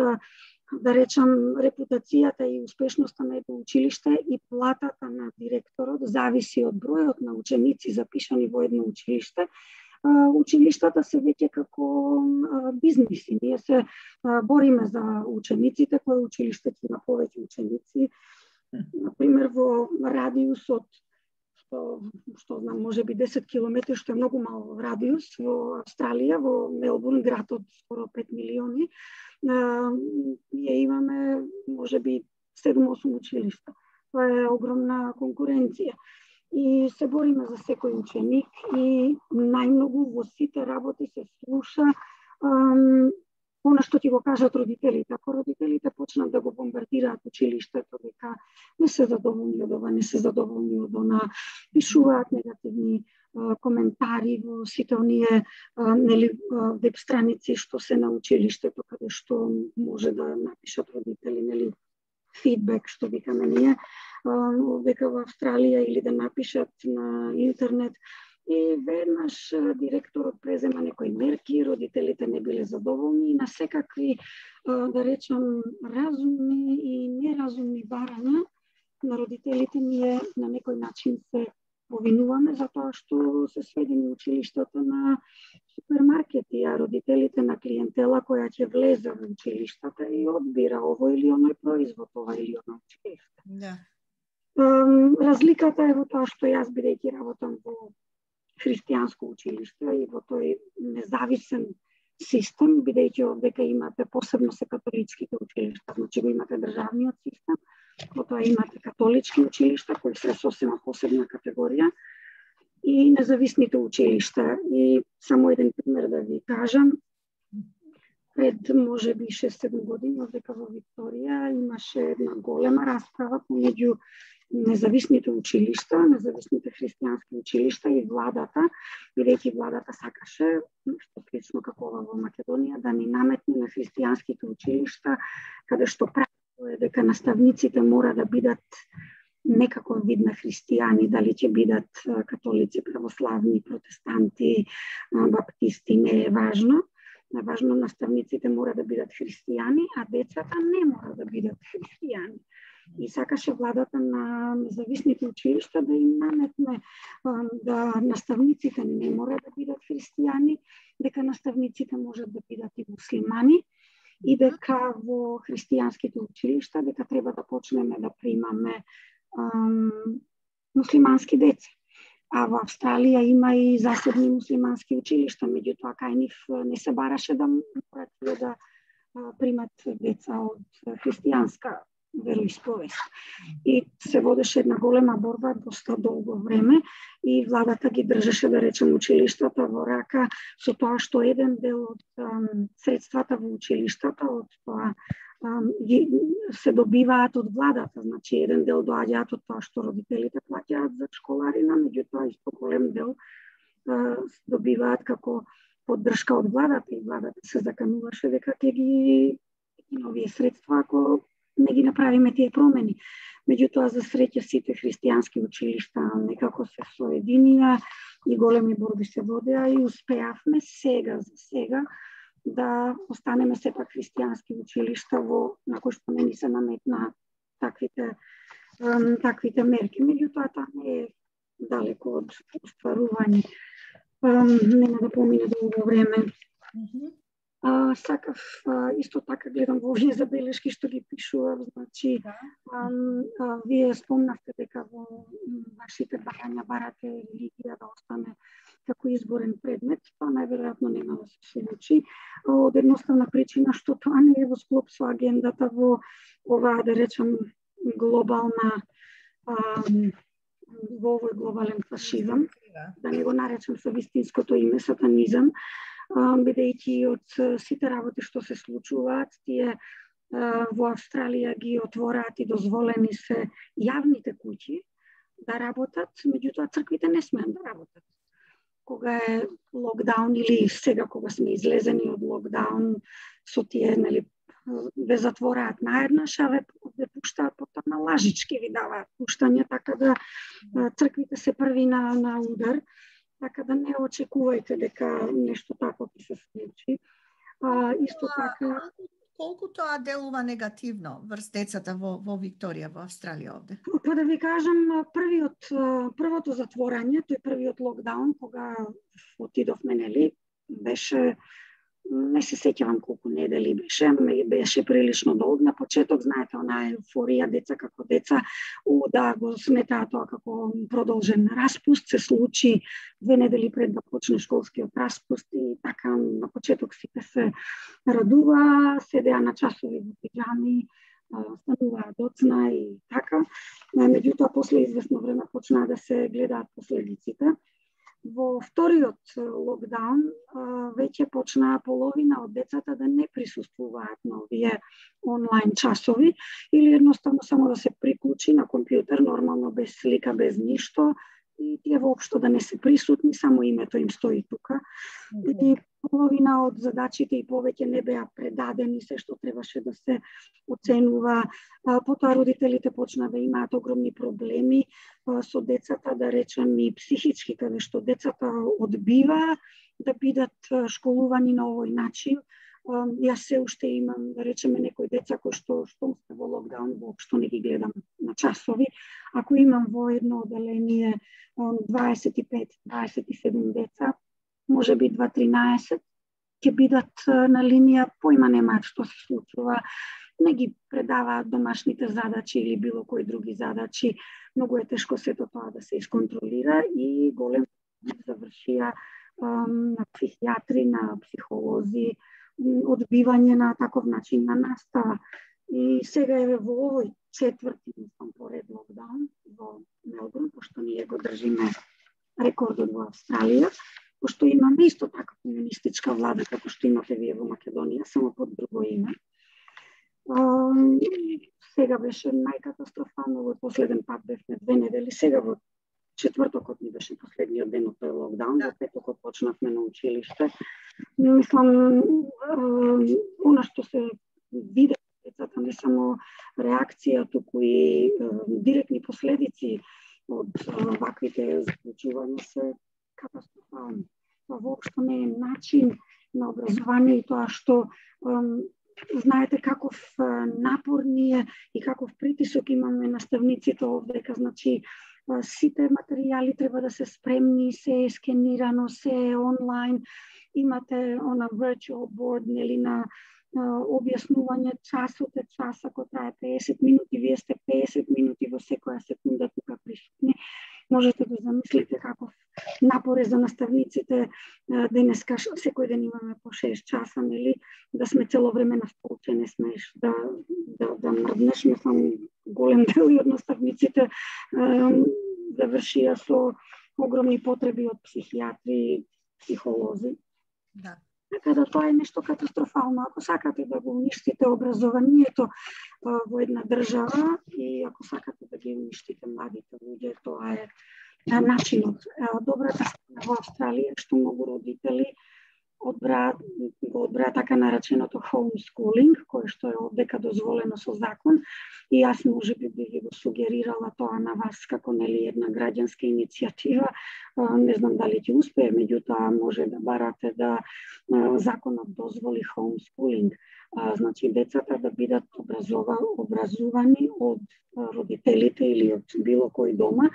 да речам, репутацијата и успешноста на едно училиште и платата на директорот зависи од бројот на ученици запишани во едно училиште, училиштата се веќе како бизниси. Ние се бориме за учениците, кој училиште има повеќе ученици. Например, во радиус од што знам, може би 10 километри, што е многу мал радиус во Австралија, во Мелбурн, град од скоро 5 милиони, ние имаме може би 7-8 училишта. Тоа е огромна конкуренција. И се бориме за секој ученик и најмногу во сите работи се слуша она што ти го кажат родителите. Ако родителите почнат да го бомбардираат училиштето дека не се задоволни од ова, не се задоволни од она, пишуваат негативни коментари во сите оние веб страници што се на училиштето, каде што може да напишат родители, фидбек што викаме ние, дека во Австралија или да напишат на интернет. И веднаш директорот презема некои мерки, родителите не биле задоволни и на секакви, да речам, разумни и неразумни барања на родителите ние на некој начин се повинуваме за тоа што се сведени училиштата на супермаркети, а родителите на клиентела која ќе влезе во училиштата и одбира овој или оној производ, ова или оној училиште. Да. Разликата е во тоа што јас, бидејќи работам во христијанско училиште и во тој независен систем, бидејќи овдека имате посебно се католичките училишта, значи го имате државниот систем, потоа имате католички училишта кои се сосема посебна категорија и независните училишта. И само еден пример да ви кажам, пред може би 6-7 години овдека во Викторија имаше една голема расправа помеѓу независните училишта, независните христијански училишта и владата, бидејќи владата сакаше, што слично како ова во Македонија, да ни наметне на христијанските училишта, каде што правило е дека наставниците мора да бидат некаков вид на христијани, дали ќе бидат католици, православни, протестанти, баптисти, не е важно. Важно наставниците мора да бидат христијани, а децата не мора да бидат христијани. И сакаше владата на независните училишта да им наметне да наставниците не мора да бидат христијани, дека наставниците можат да бидат и муслимани и дека во христијанските училишта дека треба да почнеме да примаме муслимански деца. А во Австралија има и засебни муслимански училишта, меѓутоа кај нив не се бараше да морат да примат деца од христијанска вероисповест. И се водеше една голема борба доста долго време и владата ги држеше, да речем, училиштата во рака со тоа што еден дел од средствата во училиштата од тоа се добиваат од владата, значи еден дел доаѓаат од тоа што родителите плаќаат за школарина, меѓутоа исто голем дел добиваат како поддршка од владата и владата се закануваше дека ќе ги новие средства ако не ги направиме тие промени. Меѓутоа, за среќа, сите христијански училишта некако се соединија и големи борби се водеа и успеавме за сега, да останеме сепак христијански училишта на кои што не ни се наметна таквите мерки. Меѓутоа, тоа не е далеко од остварување. Нема да помине долго време. Сакав исто така гледам во овие забелешки што ги пишував, значи вие спомнавте дека во вашите барања барате религија да остане како изборен предмет, тоа најверојатно нема да се случи од едноставна причина што тоа не е во склоп со агендата во оваа, да речем, глобална во овој глобален фашизам, да не го наречем со вистинското име сатанизам, бидејќи од сите работи што се случуваат, тие во Австралија ги отвораат и дозволени се јавните куќи да работат, меѓутоа црквите не смеат да работат. Кога е локдаун или сега кога сме излезени од локдаун, со тие, нели, ве затвораат наеднаш, а ве пуштаат потоа на лажички, ви даваат пуштање, така да црквите се први на удар. Така да не очекувајте дека нешто тако ќе се случи. Исто така... Колку тоа делува негативно врз децата во Викторија, во Австралија овде? Па да ви кажам, првото затворање, тој првиот локдаун, кога отидовме, нели, беше, не се сеќавам колку недели беше прилично долг. На почеток, знаете, онаа еуфорија, деца како деца, да го сметаа тоа како продолжен распуст, се случи 2 недели пред да почне школскиот распуст и така на почеток сите се радува, седеа на часови во пиџами, стануваа доцна и така. Меѓутоа, после известно време почнаа да се гледаат последиците. Во вториот локдаун веќе почнаа половина од децата да не присуствуваат на овие онлайн часови или едноставно само да се приклучи на компјутер, нормално без слика, без ништо, и тие воопшто да не се присутни, само името им стои тука. И половина од задачите и повеќе не беа предадени, се што требаше да се оценува. Потоа родителите почна да имаат огромни проблеми со децата, да речем и психички, каде што децата одбива да бидат школувани на овој начин. Јас се уште имам, да речеме, некои деца кои што сте во локдаун, воопшто не ги гледам на часови. Ако имам во едно оделение 25-27 деца, може би 2-13 ќе бидат на линија, поима немаат што се случува, не ги предаваат домашните задачи или било кои други задачи. Многу е тешко сето тоа да се исконтролира и голем завршија на психијатри, на психолози, одбивање на таков начин на настава. И сега е во овој четврти, мислам, поред локдаун во Мелбурн, пошто ние го држиме рекордот во Австралија, пошто имаме исто така комунистичка влада како што имате вие во Македонија, само под друго име. Сега беше најкатастрофално, во последен пат бевме 2 недели, сега во четвртокот ни беше последниот ден од тој локдаун, во петокот почнавме на училиште. Мислам, она што се виде децата, не само реакција, туку и директни последици од ваквите заклучувања се катастрофални. Тоа воопшто не е начин на образование и тоа што знаете каков напор ние и каков притисок имаме наставниците овдека, значи сите материјали треба да се спремни, се е скенирано, се е онлайн, имате она virtual board, нели, на објаснување часот е час, ако трае 50 минути, вие сте 50 минути во секоја секунда тука присутни. Можете да замислите каков напори за наставниците. Денеска секој ден имаме по 6 часа, нели, да сме цело време на столче, не смееш да мрднеш. Мислам, голем дел од наставниците завршија со огромни потреби од психијатри, психолози. Да. Така да тоа е нешто катастрофално. Ако сакате да го уништите образованието во една држава и ако сакате да ги уништите младите луѓе, тоа е начинот. Добрата страна во Австралија што многу родители го одбраат така нареченото homeschooling, кое што е оддека дозволено со закон, и јас можеби би ги го сугерирала тоа на вас како нели една граѓанска иницијатива. Не знам дали ќе успее, меѓутоа може да барате да законот дозволи homeschooling. Значи децата да бидат образувани од родителите или од било кој дома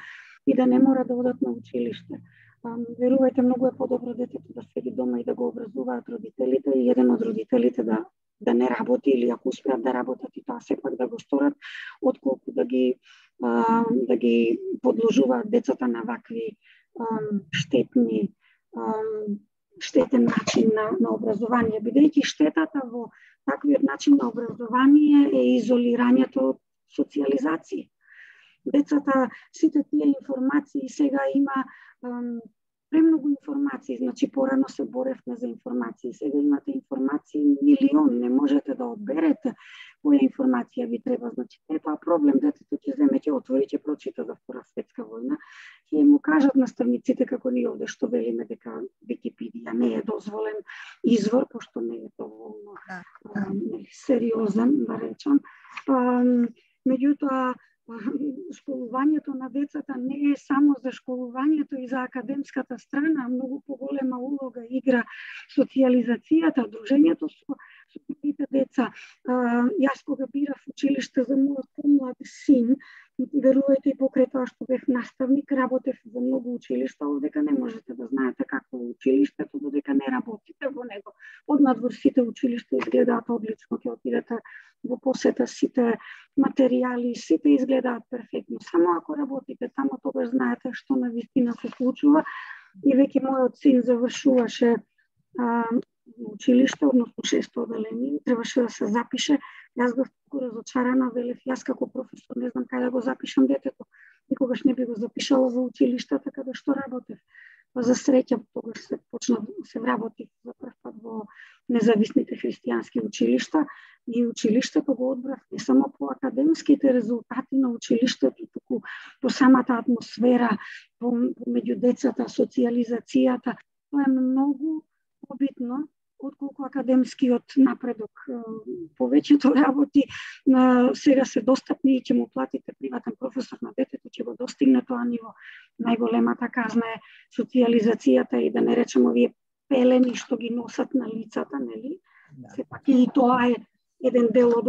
и да не мора да одат на училиште. Верувајте, многу е подобро детето да седи дома и да го образуваат родителите и еден од родителите да не работи или ако успеат да работат и тоа сепак да го сторат, отколку да ги подложуваат децата на вакви штетен начин на образование, бидејќи штетата во таквиот начин на образование е изолирањето од социјализација. Децата, сите тие информации сега има премногу информации, значи порано се боревме за информации, сега имате информации милион, не можете да одберете која информација ви треба, значи е тоа проблем, детето ќе земе, ќе отвори, ќе прочита за Втора светска војна, ќе му кажат наставниците како ние овде што велиме дека Википедија не е дозволен извор, пошто не е доволно сериозен, да речам. Меѓутоа, школувањето на децата не е само за школувањето и за академската страна, многу поголема улога игра социјализацијата, дружењето со другите деца. Јас кога бирав училиште за мојот помлад син, верувајте и покрај тоа што бев наставник, работев во многу училишта, овдека не можете да знаете какво е училиштето додека не работите во него. Однадвор сите училишта изгледаат одлично, ќе отидете во посета, сите материјали, сите изгледаат перфектно. Само ако работите тамо, тогаш знаете што на вистина се случува. И веќе мојот син завршуваше училиште, односно 6-то оделение, требаше да се запише. Јас бев разочарана, велев, јас како професор не знам кај да го запишам детето. Никогаш не би го запишала во училиште, така да што работев. За среќа, тогаш се вработив за прв пат во независните христијански училишта и училиштето го одбрав не само по академските резултати на училиштето, туку по самата атмосфера, меѓу децата, социјализацијата. Тоа е многу побитно отколку академскиот напредок. Повеќето работи сега се достапни и ќе му платите приватен професор на детето, ќе го достигне тоа ниво. Најголемата казна е социјализацијата и да не речем овие пелени што ги носат на лицата, нели? Сепак и тоа е еден дел од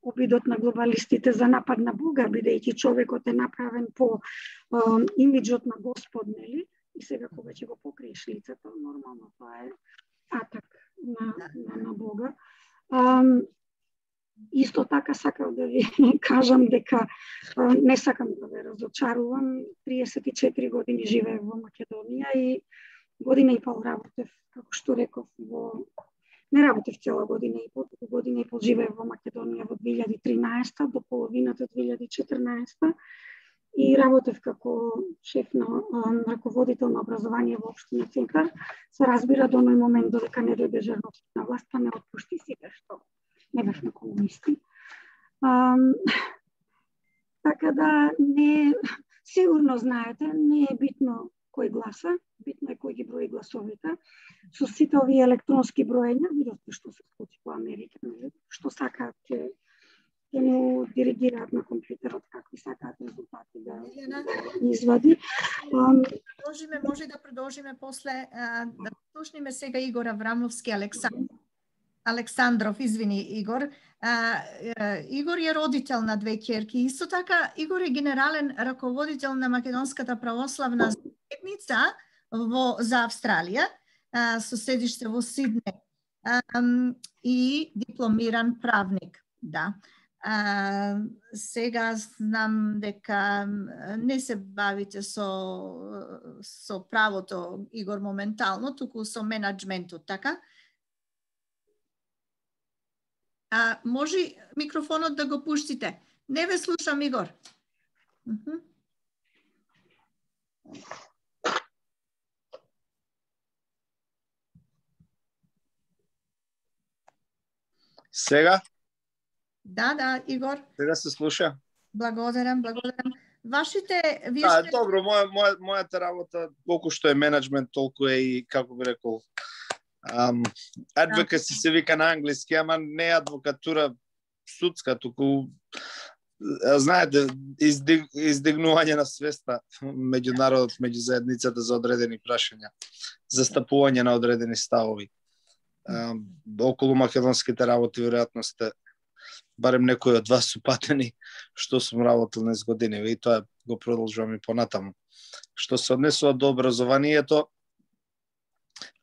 обидот на глобалистите за напад на Бога, бидејќи човекот е направен по имиджот на Господ, нели? И сега кога ќе го покриеш лицето, нормално тоа е атак на Бога. Исто така сакам да ви кажам дека не сакам да ве разочарувам. 34 години живеев во Македонија и година и пол работев, како што реков, не работев цела година и пол живеев во Македонија во 2013 до половината 2014 и работев како шеф на раководител на образование во општина Центар. Се разбира до оној момент додека не дојде Жерновски на власт, па не отпушти сите што не бевме комунисти. Така да не сигурно знаете, не е битно кој гласа, битно е кој ги брои гласовите. Со сите овие електронски броења, видовте што се случи во Америка, што сакаат ќе му диригираат на компјутерот какви сакаат резултати да извади. Може да продолжиме после, да слушниме сега Игор Аврамовски, Александров, извини Игор. Игор е родител на две ќерки. Исто така, Игор е генерален раководител на Македонската православна заедница за Австралија, со седиште во Сиднеј и дипломиран правник. Да. Сега знам дека не се бавите со правото, Игор, моментално, туку со менеджментот, така? Може микрофонот да го пуштите. Не ве слушам, Игор. Сега? Да, Игор. Сега се слуша? Благодарам. Вашите... Добро, мојата работа, колку што е менеджмент, толку е и, како би рекол, advocacy се вика на англиски, ама не е адвокатура судска, туку, знаете, издигнување на свеста меѓу народот, меѓу заедницата за одредени прашања, застапување на одредени ставови. Околу македонските работи, веројатно сте, барем некои од вас су патени, што сум работил низ години, и тоа го продолжувам и понатаму. Што се однесува до образованието,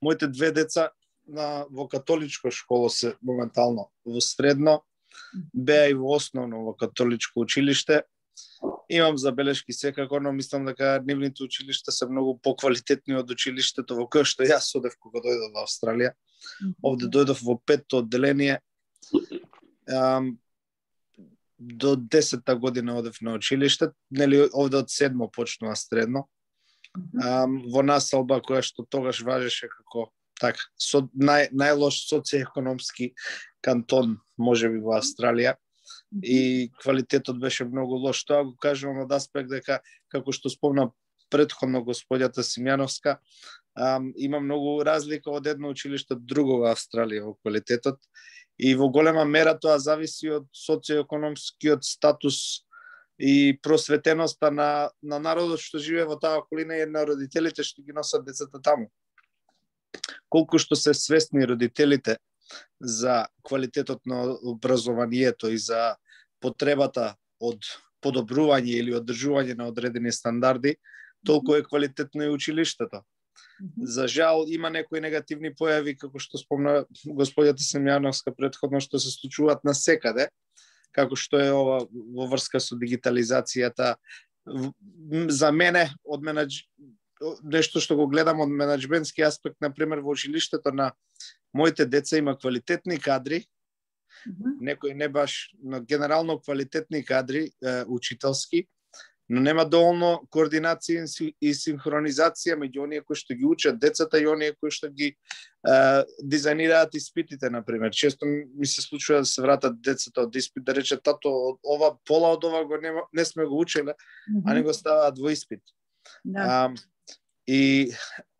моите две деца во католичко школо се моментално во средно, беа и во основно во католичко училиште. Имам забелешки секако, но мислам дека нивните училишта се многу поквалитетни од училиштето во кое што јас одев кога дојдов во Австралија. Овде дојдов во 5-то одделение. До 10-та година одев на училиште, нели овде од 7-мо почнува средно. Во населба која што тогаш важеше како така најлош социјекономски кантон можеби во Австралија, и квалитетот беше многу лош. Тоа го кажувам од аспект дека, како што спомна претходно господјата Симјановска, има многу разлика од едно училиште од друго во Австралија во квалитетот, и во голема мера тоа зависи од социјекономскиот статус и просветеноста на народот што живее во таа околина и на родителите што ги носат децата таму. Колку што се свесни родителите за квалитетот на образованието и за потребата од подобрување или одржување на одредени стандарди, толку е квалитетно и училиштето. За жал, има некои негативни појави, како што спомна господјата Семјановска претходно, што се случуваат насекаде, како што е ова во врска со дигитализацијата. За мене, нешто што го гледам од менеджментски аспект, например, во училиштето на моите деца има квалитетни кадри, некои не баш, но генерално квалитетни кадри, учителски, но нема доволно координација и синхронизација меѓу оние кои што ги учат децата и оние кои што ги дизајнираат испитите, например. Често ми се случува да се вратат децата од испит, да рече тато, ова пола од ова го не сме го учеле, а не го ставаат во испит. И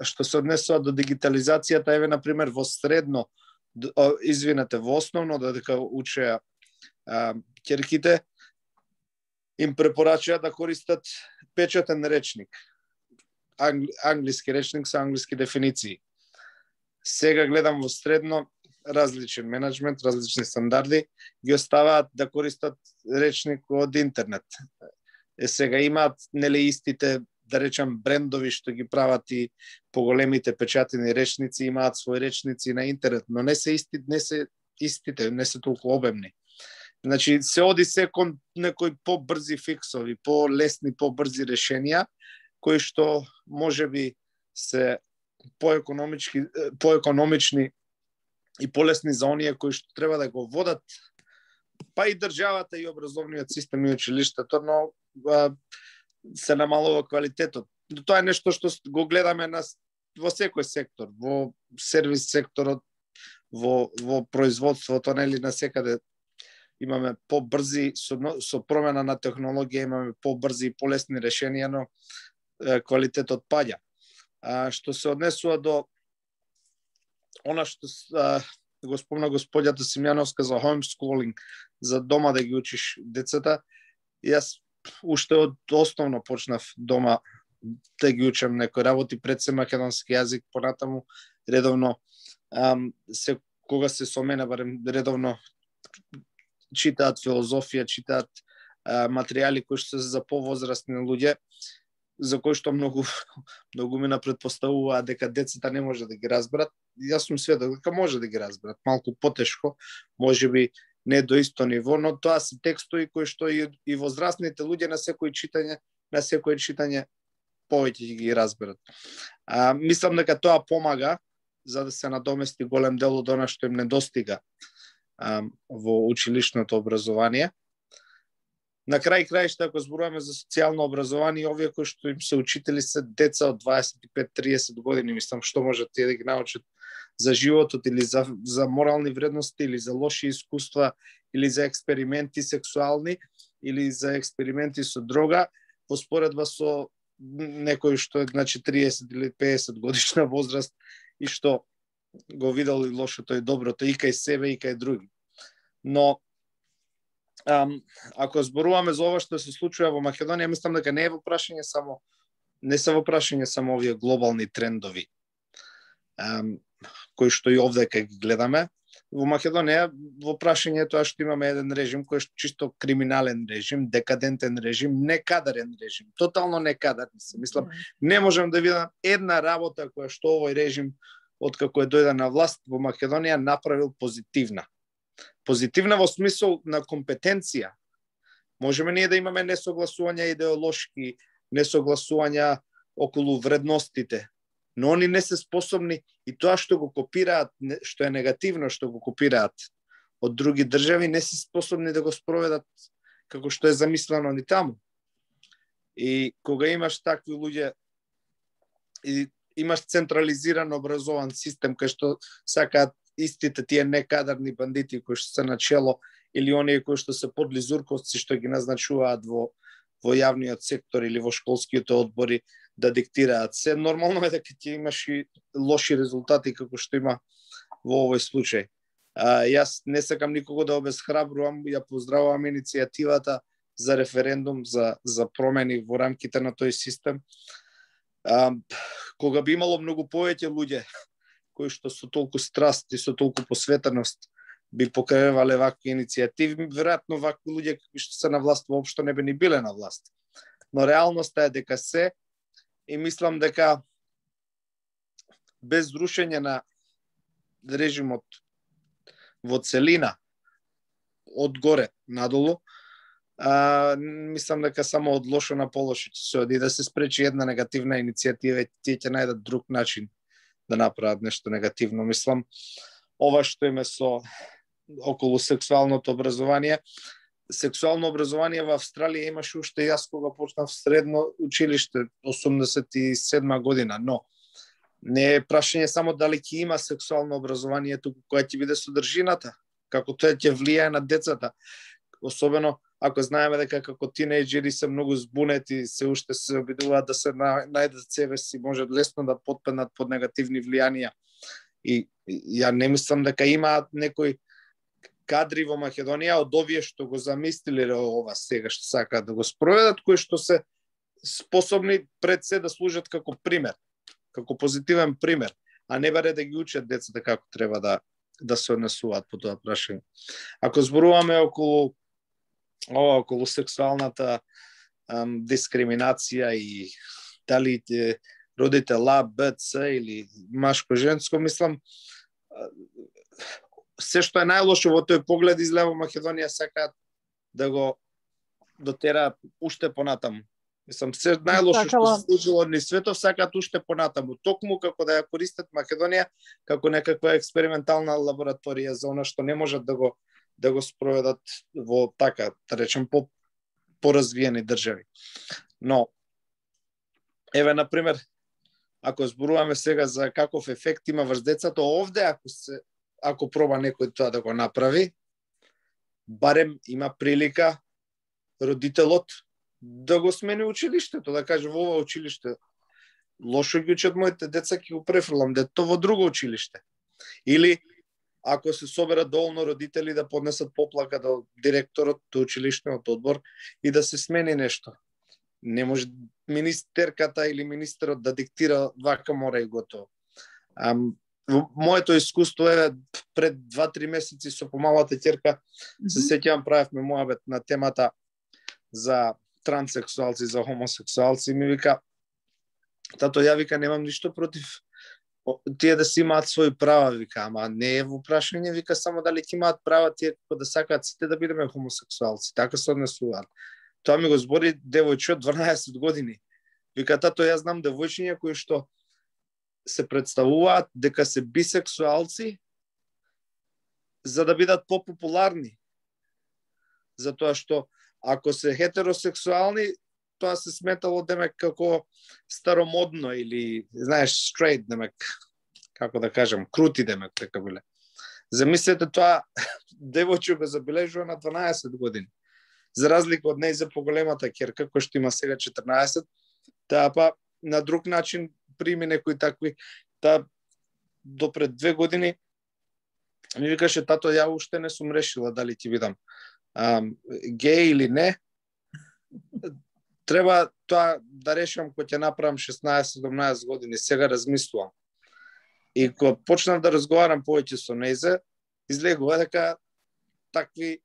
што се однесува до дигитализацијата, еве, например, во средно, во основно, додека учеа ќерките, им препорачаат да користат печатен речник. Англиски речник со англиски дефиниции. Сега гледам во средно различен менеджмент, различни стандарди, ги оставаат да користат речник од интернет. Сега имаат нели истите, да речам, брендови што ги прават и поголемите печатени речници, имаат своји речници на интернет, но не се истите, не се толку обемни. Значи, се оди се кон некои побрзи фиксови, полесни, побрзи решенија, кои што можеби се поекономични и полесни за оние кои што треба да го водат, па и државата и образовниот систем и училиштето, но се намалува квалитетот. Тоа е нешто што го гледаме во секој сектор, во сервис секторот, во производството, нели, насекаде имаме побрзи, со промена на технологија имаме побрзи и полесни решенија, но квалитетот паѓа. Што се однесува до она што го спомна господјата Симјановска за homeschooling, за дома да ги учиш децата, јас уште од основно почнав дома да ги учам некои работи, пред се македонски јазик, понатаму редовно, кога се со мене, барем редовно читаат филозофија, читаат материјали кои што се за повозрастни луѓе, за кои што многу ми предпоставуваат дека децата не може да ги разберат. Јас сум сведок дека може да ги разберат, малку потешко, можеби не до исто ниво, но тоа се текстови кои што и возрастните луѓе на секој читање повеќе ги разберат. Мислам дека тоа помага за да се надомести голем дел од она што им недостига во училишното образование. На крај краишта, ако зборуваме за социјално образование, овие кои што им се учители се деца од 25-30 години, мислам што можат тие да ги научат за животот или за морални вредности или за лоши искуства или за експерименти сексуални или за експерименти со дрога, во споредба со некој што е 30 или 50 годишна возраст и што го видел и лошото и доброто и кај себе и кај други. Но ако зборуваме за ова што се случува во Македонија, мислам дека не се во прашање само овие глобални трендови кои што и овде кај ги гледаме. Во Македонија во прашање е тоа што имаме еден режим кој е чисто криминален режим, декадентен режим, некадарен режим, тотално некадарен се. Мислам, не можам да видам една работа која што овој режим откако е дојде на власт во Македонија направил позитивна. Позитивна во смисол на компетенција. Можеме ние да имаме несогласувања идеолошки, несогласувања околу вредностите, но они не се способни и тоа што го копираат, што е негативно што го копираат од други држави, не се способни да го спроведат како што е замислено ни таму. И кога имаш такви луѓе и имаш централизиран образован систем кај што сакаат истите тие некадарни бандити кои што се на чело или оние кои што се подлизурковци што ги назначуваат во јавниот сектор или во школските одбори да диктираат се, нормално е дека ќе имаш и лоши резултати како што има во овој случај. Јас не сакам никого да обесхрабрувам, ја поздравувам иницијативата за референдум за промени во рамките на тој систем. Кога би имало многу повеќе луѓе кои што со толку страст и со толку посветеност би покревале вакви иницијативи, веројатно вакви луѓе кои што се на власт воопшто не би ни биле на власт. Но реалноста е дека се, и мислам дека без рушење на режимот во целина од горе надолу, мислам дека само од лошо на полошо ќе се оди, да се спречи една негативна иницијатива и тие ќе најдат друг начин да направат нешто негативно. Мислам, ова што име со околу сексуалното образование. Сексуално образование во Австралија имаше уште јас кога почнав средно училиште 87 година, но не е прашање само дали ќе има сексуално образование, туку која ќе биде содржината, како тоа ќе влијае на децата. Особено ако знаеме дека како тинејџери се многу збунети, се уште се обидуваат да се најдат себе си, може лесно да потпаднат под негативни влијанија. И ја не мислам дека имаат некои кадри во Македонија од овие што го замислиле ова сега што сакаат да го спроведат, кои што се способни пред се да служат како пример, како позитивен пример, а не баре да ги учат децата како треба да се однесуваат по тоа прашање. Ако зборуваме околу сексуалната дискриминација и дали родител А, Б, Ц или машко-женско, мислам, се што е најлошо во тој поглед излева Македонија сакаат да го дотераат уште понатаму. Мислам, се најлошо што се случило од светот сакаат уште понатаму, токму како да ја користат Македонија како некаква експериментална лабораторија за она што не можат да го спроведат во така, да речем, поразвиени држави. Но, еве, например, ако зборуваме сега за каков ефект има врз децата, овде, ако проба некој тоа да го направи, барем има прилика родителот да го смени училиштето, да каже во ова училиште лошо ги учат моите деца, ќе го префрлам дето во друго училиште. Или ако се соберат доволно родители да поднесат поплака до директорот, до училишниот одбор и да се смени нешто. Не може министерката или министерот да диктира вака мора и готово. Моето искуство е пред 2-3 месеци со помалата ќерка, се сеќавам, правевме моабет на темата за транссексуалци, за хомосексуалци, ми вика, тато, ја вика, немам ништо против тие да си имаат своји права, вика, ама не е во прашање, вика, само дали ќе имаат права тие како да сакаат сите да бидеме хомосексуалци, така се однесуваат. Тоа ми го збори девојче од 12 години. Вика, тато, јас знам девојчиња кои што се представуваат дека се бисексуалци за да бидат попопуларни. Затоа што ако се хетеросексуални, тоа се сметало демек како старомодно или, знаеш, straight, демек, како да кажам, крути демек, така биле. Замислете тоа, девојче го забележува на 12 години. За разлика од нејзе поголемата ќерка, која што има сега 14, таа па на друг начин прими некои такви, таа до пред 2 години ми викаше, тато, ја уште не сум решила дали ќе бидам геј или не. Треба тоа да решам кога ќе направам 16-17 години, сега размислувам. И кога почнав да разговарам повеќе со нејзе, излегува дека такви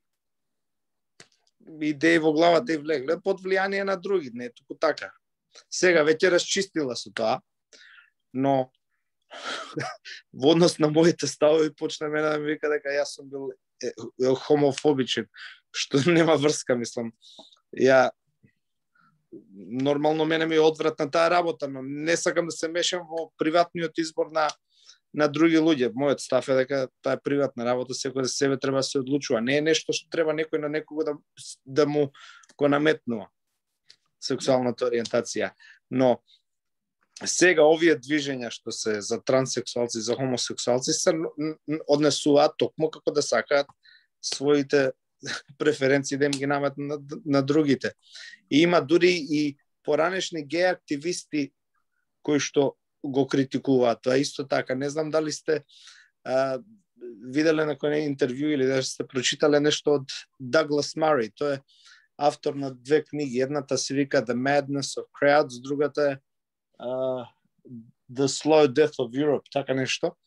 идеи во главата и влегле под влијание на други, не туку така. Сега веќе расчистила со тоа, но во однос на моите ставови почна мене да ми вика дека јас сум бил хомофобичен, што нема врска, мислам. Ја нормално мене ми е одвратна таа работа, но не сакам да се мешам во приватниот избор на други луѓе. Мојот став е дека таа е приватна работа, секој за себе треба да се одлучува. Не е нешто што треба некој на некого да му го наметнува сексуалната ориентација. Но сега овие движења што се за транссексуалци, за хомосексуалци се однесуваат токму како да сакаат своите преференции да им ги наметнат на другите. И има дури и поранешни геј активисти кои што го критикуваат. Тоа исто така. Не знам дали сте виделе некој интервју или да сте прочитале нешто од Даглас Мари. Тој е автор на 2 книги. Едната се вика The Madness of Crowds, другата е The Slow Death of Europe, така нешто.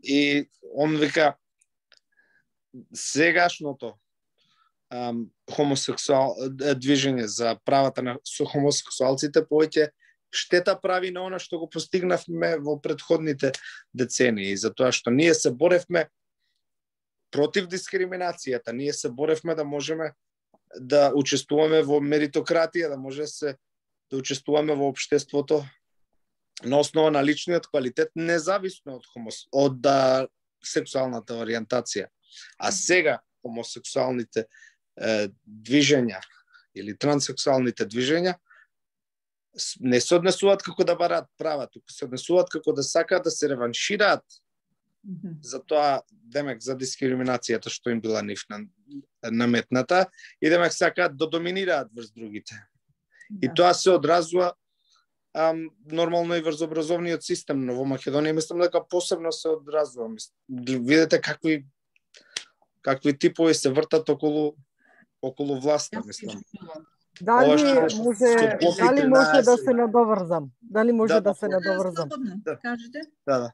И он вика сегашното движење за правата на хомосексуалците повеќе штета прави на она што го постигнавме во претходните децении, затоа што ние се боревме против дискриминацијата, ние се боревме да можеме да учествуваме во меритократија, да може да учествуваме во општеството на основа на личниот квалитет, независно од сексуалната ориентација. А сега хомосексуалните движења или транссексуалните движења не се однесуваат како да бараат права, туку се однесуваат како да сакаат да се реваншираат за тоа, демек, за дискриминацијата што им била нив наметната и демек сакаат да доминираат врз другите. И тоа се одразува нормално и врз образовниот систем, но во Македонија мислам дека посебно се одразува. Видете какви типови се вртат околу власта, мислам. Дали може да се надоврзам? Дали може да се надоврзам? Кажете. Да.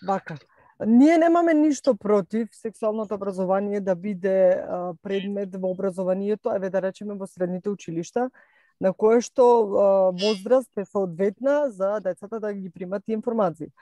Вака. Ние немаме ништо против сексуалното образование да биде предмет во образованието, еве да речеме во средните училишта, на кое што возраст е соодветна за децата да ги примат информации.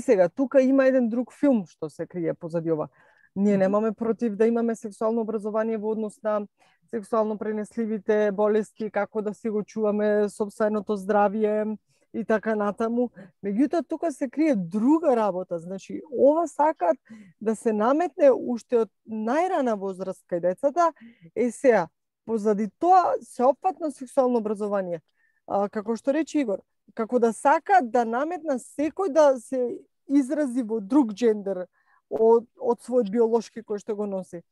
Сега, тука има еден друг филм што се крие позади ова. Ние немаме против да имаме сексуално образование во однос на сексуално пренесливите болести, како да си го чуваме сопственото здравје и така натаму. Меѓутоа, тука се крие друга работа. Значи, ова сакат да се наметне уште од најрана возраст кај децата. Сега, позади тоа сеопфатно сексуално образование, како што рече Игор, како да сакат да наметна секој да се изрази во друг джендер од својот биолошки кој што го носи.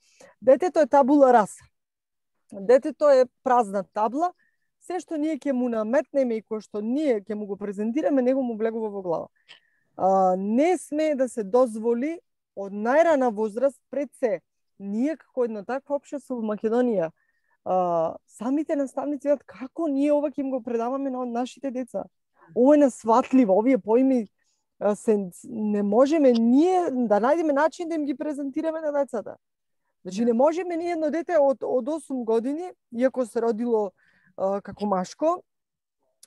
Детето е табула раса. Детето е празна табла, се што ние ќе му наметнеме и кој што ние ќе му го презентираме, него му влегува во глава. Не смее да се дозволи од најрана возраст пред се. Ние како едно такво општество во Македонија, самите наставници од како ние ова ќе им го предаваме на нашите деца. Ова е несватливо, овие поими не можеме ние да најдеме начин да им ги презентираме на децата. Значи не можеме ние едно дете од 8 години, иако се родило како машко,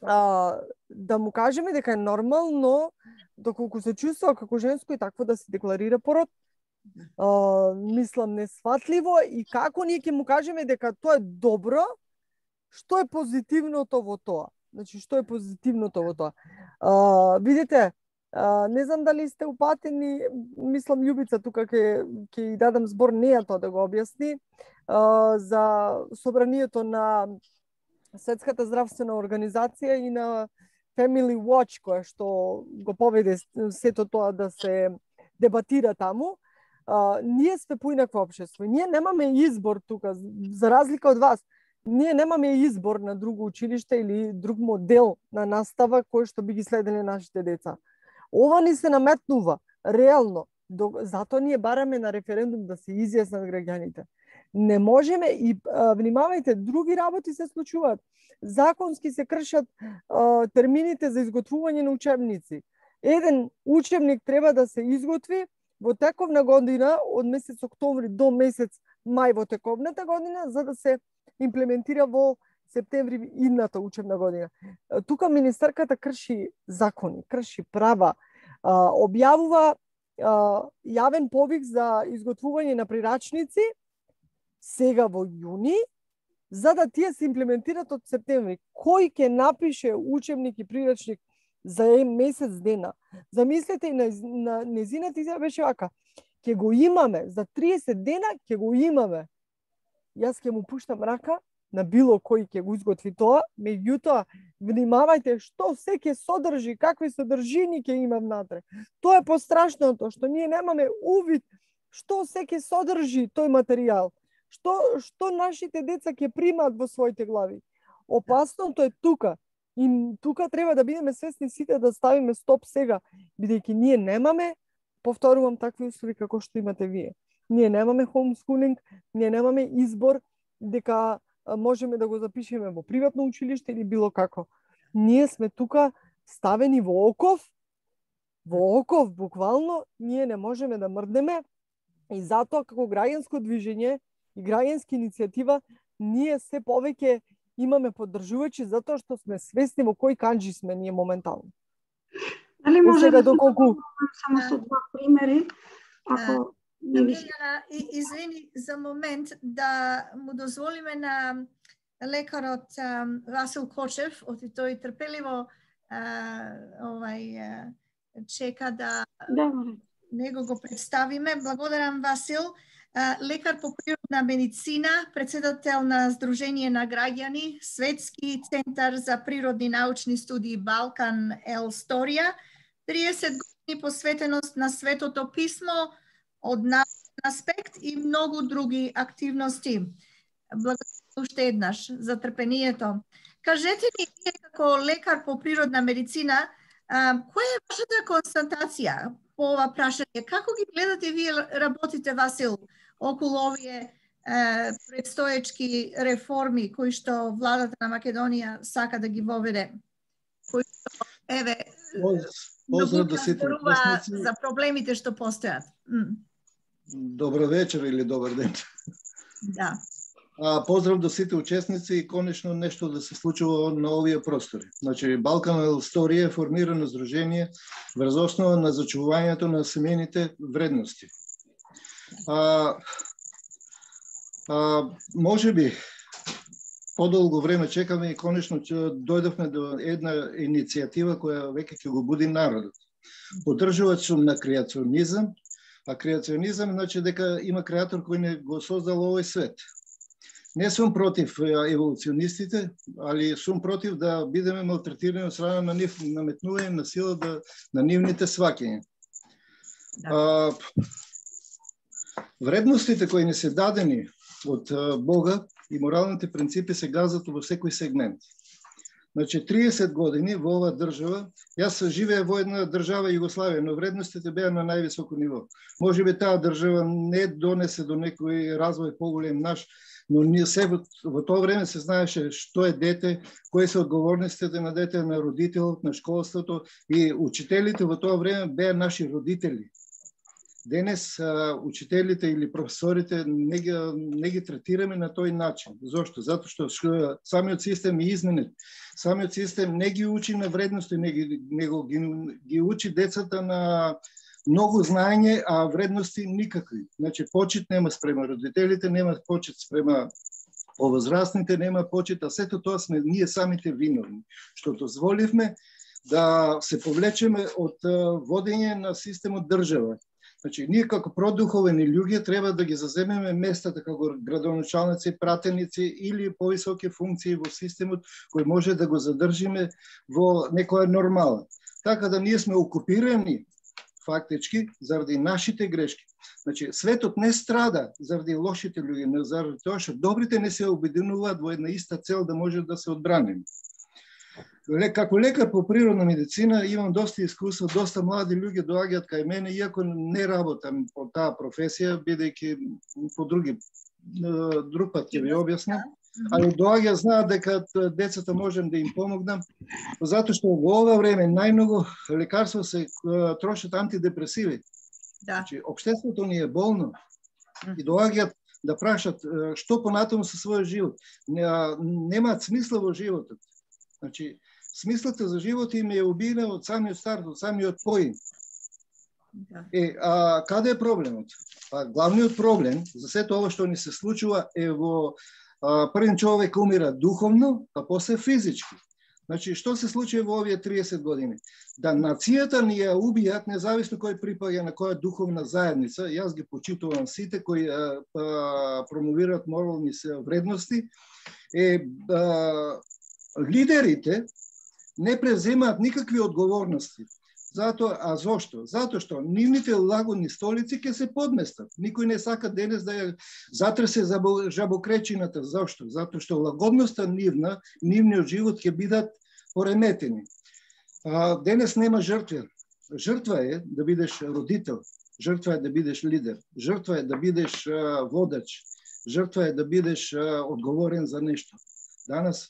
да му кажеме дека е нормално, доколку се чувствува како женско и такво да се декларира пород. Мислам несватливо и како ние ќе му кажеме дека тоа е добро, што е позитивното во тоа? Значи, што е позитивното во тоа? Видите, не знам дали сте упатени, мислам Љубица тука ќе дадам збор неја тоа да го објасни, за собранието на Светската здравствена организација и на Family Watch, која што го поведе сето тоа да се дебатира таму. Ние сме поинакво општество. Ние немаме избор тука, за разлика од вас. Ние немаме избор на друго училиште или друг модел на настава кој што би ги следеле нашите деца. Ова ни се наметнува, реално. Затоа ние бараме на референдум да се изјаснат граѓаните. Не можеме и внимавајте, други работи се случуваат. Законски се кршат термините за изготвување на учебници. Еден учебник треба да се изготви во тековна година од месец октомври до месец мај во тековната година, за да се имплементира во септември идната учебна година. Тука министерката крши закони, крши права, објавува јавен повик за изготвување на прирачници сега во јуни, за да тие се имплементират од септември. Кој ќе напише учебник и прирачник за месец дена? Замислете, и на незината изјава беше вака: ќе го имаме за 30 дена, ќе го имаме. Јас ќе му пуштам рака на било кој ќе го изготви тоа, меѓутоа внимавајте што се ќе содржи, какви содржини ќе има внатре. Тоа е пострашното, што ние немаме увид што се ќе содржи тој материјал. Што нашите деца ќе примаат во своите глави. Опасното е тука. И тука треба да бидеме свесни сите да ставиме стоп сега, бидејќи ние немаме, повторувам, такви услови како што имате вие. Ние немаме homeschooling, ние немаме избор дека можеме да го запишеме во приватно училиште или било како. Ние сме тука ставени во оков буквално, ние не можеме да мрднеме и затоа како граѓанско движење и граѓанска иницијатива ние се повеќе имаме поддржувачи затоа што сме свесни во кој канџи сме ние моментално. Дали може да доколку само со два примери, ако не ви... Извини за момент да му дозволиме на лекарот Васил Кочев, тој трпеливо чека да него го представиме. Благодарам, Васил. Лекар по природна медицина, председател на Сдружение на граѓани, Светски центар за природни научни студии Балкан Ел Сторија, 30 години посветеност на Светото писмо од научен аспект и многу други активности. Благодарам уште еднаш за трпението. Кажете ни, вие како лекар по природна медицина, која е вашата констатација по ова прашање? Како ги гледате вие работите, Васил, околу овие предстоечки реформи кои што владата на Македонија сака да ги воведе? Кои што, Поздрав до сите учесници. За проблемите што постојат. Добро вечер или добар ден. Да. Поздрав до сите учесници и конечно нешто да се случува на овие простори. Значи, Балкан Ел Сторија е формирано здружение врз основа на зачувувањето на семејните вредности. Може би подолго време чекаме и конечно дојдовме до една иницијатива која веќе ќе го буди народот. Поддржувач сум на креационизам, а креационизам значи дека има креатор кој не го создал овој свет. Не сум против еволуционистите, али сум против да бидеме малтретирани од страна на нив, наметнување на сила на нивните сваќања. Вредностите кои не се дадени од Бога и моралните принципи се газат во секој сегмент. Значи, 30 години во оваа држава, јас живея во една држава Југославија, но вредностите беа на највисоко ниво. Може би таа држава не донесе до некој развој поголем наш, но ние се во тоа време се знаеше што е дете, кои се одговорностите на дете, на родителот, на школството и учителите во тоа време беа наши родители. Денес учителите или професорите не ги третираме на тој начин. Зошто? Затоа што самиот систем е изменет. Самиот систем не ги учи на вредности, него ги учи децата на многу знаење, а вредности никакви. Значи, почит нема спрема родителите, нема почит спрема повозрастните, нема почит, а сето тоа сме ние самите виновни, што дозволивме да се повлечеме од водење на системот држава. Значи, ние како продуховени луѓе треба да ги заземеме местата како градоначалници, пратеници или повисоки функции во системот кои може да го задржиме во некоја нормала. Така да ние сме окупирани фактички заради нашите грешки. Значи, светот не страда заради лошите луѓе, не заради тоа што добрите не се обединуваат во една иста цел да може да се одбраним. Како лекар по природна медицина имам доста искуство, доста млади луѓе доаѓаат кај мене, иако не работам по таа професија, бидејќи по друг пат ќе ви објаснам, али доаѓа знаат дека децата можем да им помогнам, затоа што во ова време најмногу лекарства се трошат антидепресиви. Да. Значи, општеството ни е болно и доаѓаат да прашат што понатаму со својот живот. Немаат смисла во животот. Значи, смислата за живот им е убиена од самиот старт, од самиот поим. Да. Каде е проблемот? Главниот проблем за сето ова што ни се случува е во првен човек умира духовно, а после физички. Значи, што се случи во овие 30 години? Да нацијата ни ја убијат, независно кој припаѓа на која духовна заедница, јас ги почитувам сите кои промовираат морални вредности, лидерите не преземаат никакви одговорности. А зошто? Затоа што нивните лагодни столици ќе се подместат. Никој не сака денес да ја затресе жабокречината. Зошто? Затоа што лагодноста нивниот живот ќе бидат пореметени. Денес нема жртва. Жртва е да бидеш родител. Жртва е да бидеш лидер. Жртва е да бидеш водач. Жртва е да бидеш одговорен за нешто.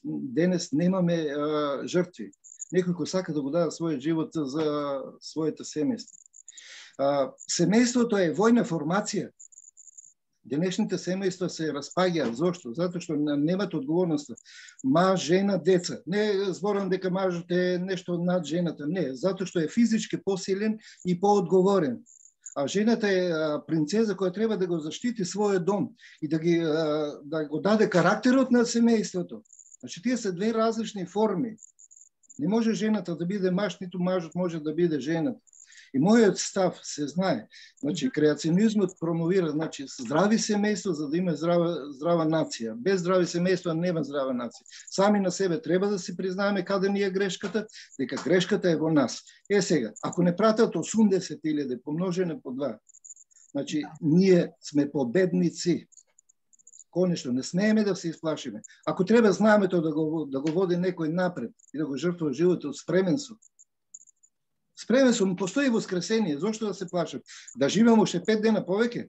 Денес немаме жртви. Некој кој сака да го даде својот живот за своето семејство. Семејството е војна формација. Денешните семејства се распаѓаат. Зошто? Затоа што немат одговорност. Маж, жена, деца. Не зборам дека мажот е нешто над жената. Не, затоа што е физички посилен и поодговорен. А жената е принцеза која треба да го заштити својот дом и да го даде карактерот на семејството. Значи, тие се две различни форми. Не може жената да биде маж, ниту мажот може да биде жената. И мојот став се знае. Значи, креационизмот промовира здрави семејства за да има здрава нација. Без здрави семејства нема здрава нација. Сами на себе треба да си признаеме каде ни е грешката, дека грешката е во нас. Сега, ако не пратат 80.000 помножено по 2, значи, ние сме победници. Конечно, не смееме да се исплашиме. Ако треба знаеме тоа да го води некој напред и да го жртвува животот, спремен сум. Спремен сум, постои воскресение, зошто да се плашам? Да живеам уште 5 дена повеќе?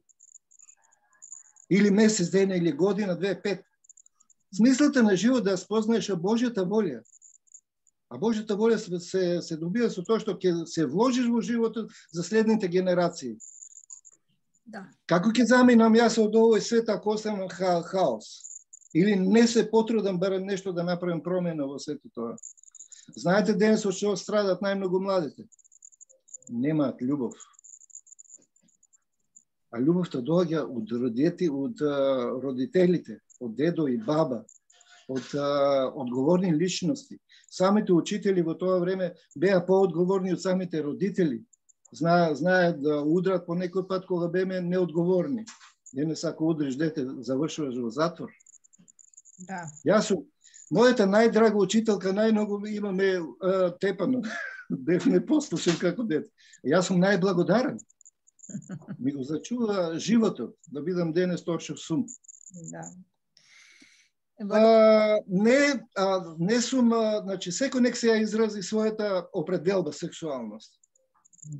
Или месец дена, или година, 2-5. Смислата на живот да спознаеш Божјата волја. А Божјата волја се добива со тоа што ќе се вложиш во животот за следните генерации. Да. Како ќе заминам јас од овој свет ако останам хаос? Или не се потрудам барем нешто да направим промена во сето тоа? Знаете денес од што страдат најмногу младите? Немаат љубов. А љубовта доаѓа од родителите, од дедо и баба, од одговорни личности. Самите учители во тоа време беа поодговорни од самите родители. Знаат да удрат по некој пат кога беме неодговорни. Денес ако удриш дете, завршуваш во затвор. Да. Јас сум мојата најдрага учителка, најмногу имаме тепано. Бев не послушен како дете. Јас сум најблагодарен. Ми го зачува животот да бидам денес тоа што сум. Да. Не сум, значи секој нек се ја изрази својата определба сексуалност.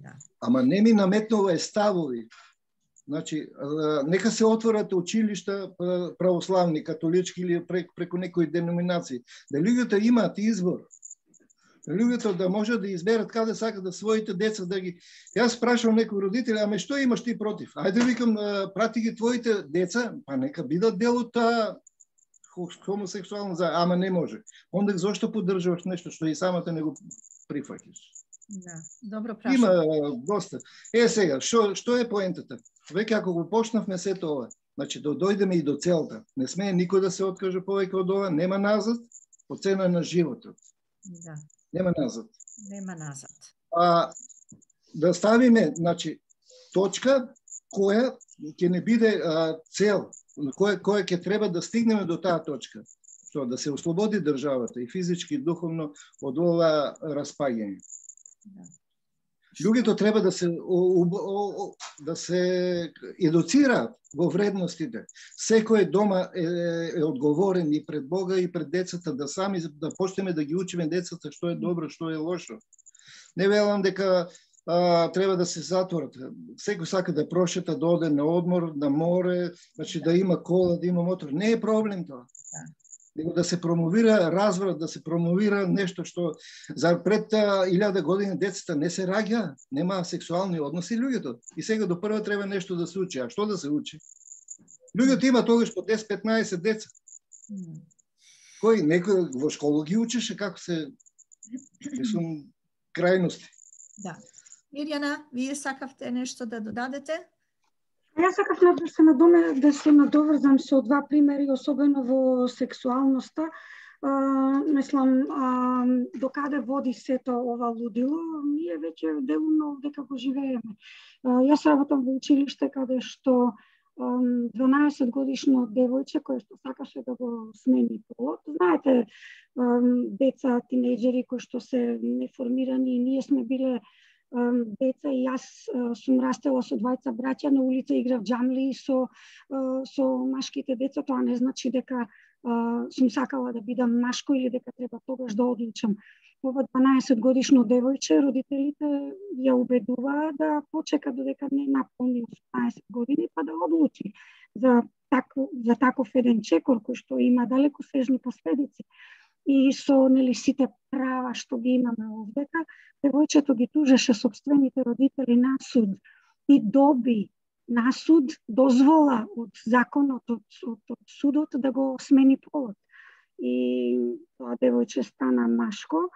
Да. Ама не ми наметнува ставови. Значи, нека се отворат училишта православни, католички или преку некои деноминации. Да луѓето имаат избор. Луѓето да можат да изберат каде сакат да своите деца да ги... Јас прашувам некои родители, аме што имаш ти против? Ајде викам, прати ги твоите деца, па нека бидат дел од таа хомосексуална заедница, ама не може. Онда зошто поддржуваш нешто што и самата не го прифаќаш? Да, добро прашање. Има доста. Сега, што е поентата? Веќе ако го почнавме сето ова, значи да дојдеме и до целта. Не смее никој да се откаже повеќе од ова, нема назад, по цена на животот. Да. Нема назад. Нема назад. Да ставиме, значи, точка која ќе не биде цел, која ќе треба да стигнеме до таа точка. Што да се ослободи државата и физички и духовно од ова распаѓање. Да. Луѓето треба да се едуцираат во вредностите. Секој дома е одговорен и пред Бога и пред децата, да сами да почнеме да ги учиме децата што е добро, што е лошо. Не велам дека треба да се затворат. Секој сака да прошета, да оде на одмор, на море, значи да има кола, да има мотор. Не е проблем тоа. Него да се промовира разврат, да се промовира нешто што за пред 1000 години децата не се раѓа, нема сексуални односи луѓето. И сега до прво треба нешто да се учи. А што да се учи? Луѓето има тогаш по 10-15 деца. Кој некој во школа ги учеше како се мислам крајности. Да. Мирјана, вие сакавте нешто да додадете? Јас сакав да се надоврзам со два примери, особено во сексуалноста. Мислам, докаде води сето ова лудило, ние веќе делумно дека го живееме. Јас работам во училиште каде што 12 годишно девојче кој што сакаше да го смени полот. Знаете, деца, тинејџери кои што се неформирани, ние сме биле деца и јас сум растела со двајца браќа, на улица играв џамли со машките деца, тоа не значи дека сум сакала да бидам машко или дека треба тогаш да одлучам. Ова 12 годишно девојче, родителите ја убедуваа да почека додека не наполни 18 години, па да одлучи за таков еден чекор кој што има далекосежни последици. И со сите права што ги имаме овдека, девојчето ги тужеше сопствените родители на суд и доби на суд дозвола од законот, од судот да го смени полот. И тоа девојче стана машко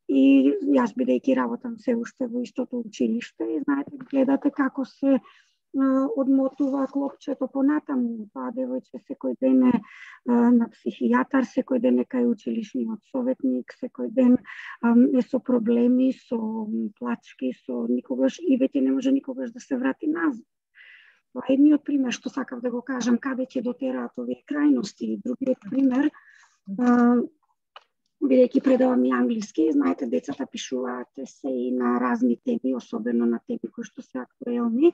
и јас бидејќи работам се уште во истото училиште и знаете, гледате како се одмотува клопчето понатаму. Тоа девојче секој ден е на психијатар, секој ден е кај училишниот советник, секој ден е со проблеми, со плачки, со никогаш и веќе не може никогаш да се врати назад. Тоа е едниот пример што сакав да го кажам каде ќе дотераат овие крајности. Другиот пример, бидејќи предавам и англиски, знаете, децата пишуваат есеи на разни теми, особено на теми кои што се актуелни,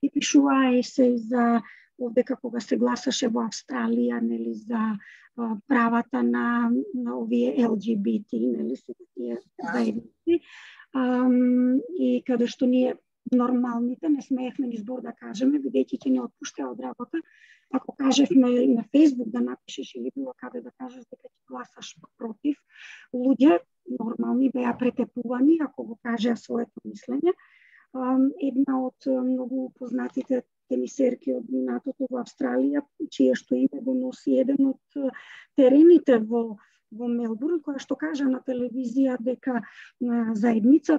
и пишуваа есеи за овдека кога се гласаше во Австралија, нели, за правата на овие LGBT, нели, сите тие заедници. И каде што ние нормалните не смеевме ни збор да кажеме, бидејќи ќе не отпуштаа од работа. Ако кажевме на Facebook да напишеш или било каде да кажеш дека ќе гласаш против, луѓе нормални беа претепувани ако го кажеа своето мислење. Една од многу познатите тенисерки од минатото во Австралија, чие што име го носи еден од терените во Мелбурн, која што кажа на телевизија дека заедница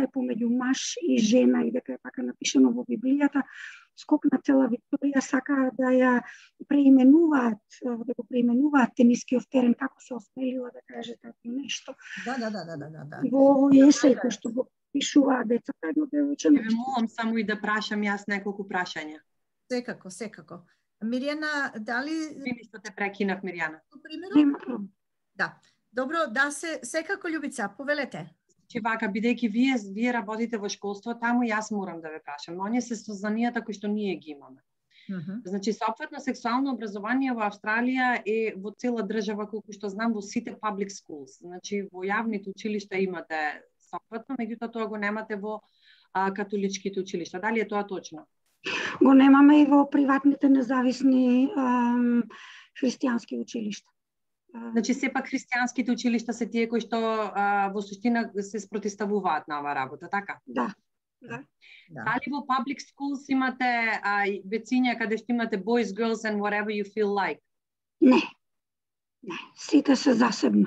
е помеѓу маж и жена и дека е така напишано во Библијата. Скокна цела Викторија, сака да ја преименуваат, да го преименуваат тенискиот терен, како се осмелила да каже така нешто. Да. Во есеј кој што го пишуваат децата, едно девојче. Ве молам само и да прашам јас неколку прашања. Секако. Мирјана, дали... Вини што те прекинав, Мирјана. Да. Добро, да се секако Љубица, повелете. Че вака, бидејќи вие работите во школство, таму јас морам да ве прашам. Оние се сознанијата кои што ние ги имаме. Значи, соопфатно сексуално образование во Австралија е во цела држава, колку што знам, во сите public schools. Значи, во јавните училишта имате соопфатно, меѓутоа тоа го немате во католичките училишта. Дали е тоа точно? Го немаме и во приватните независни христијански училишта. Значи сепак христијанските училишта се тие кои што во суштина се спротивставуваат на оваа работа, така? Да. Дали во public schools имате вециња каде што имате boys, girls and whatever you feel like? Не. Сите се засебно.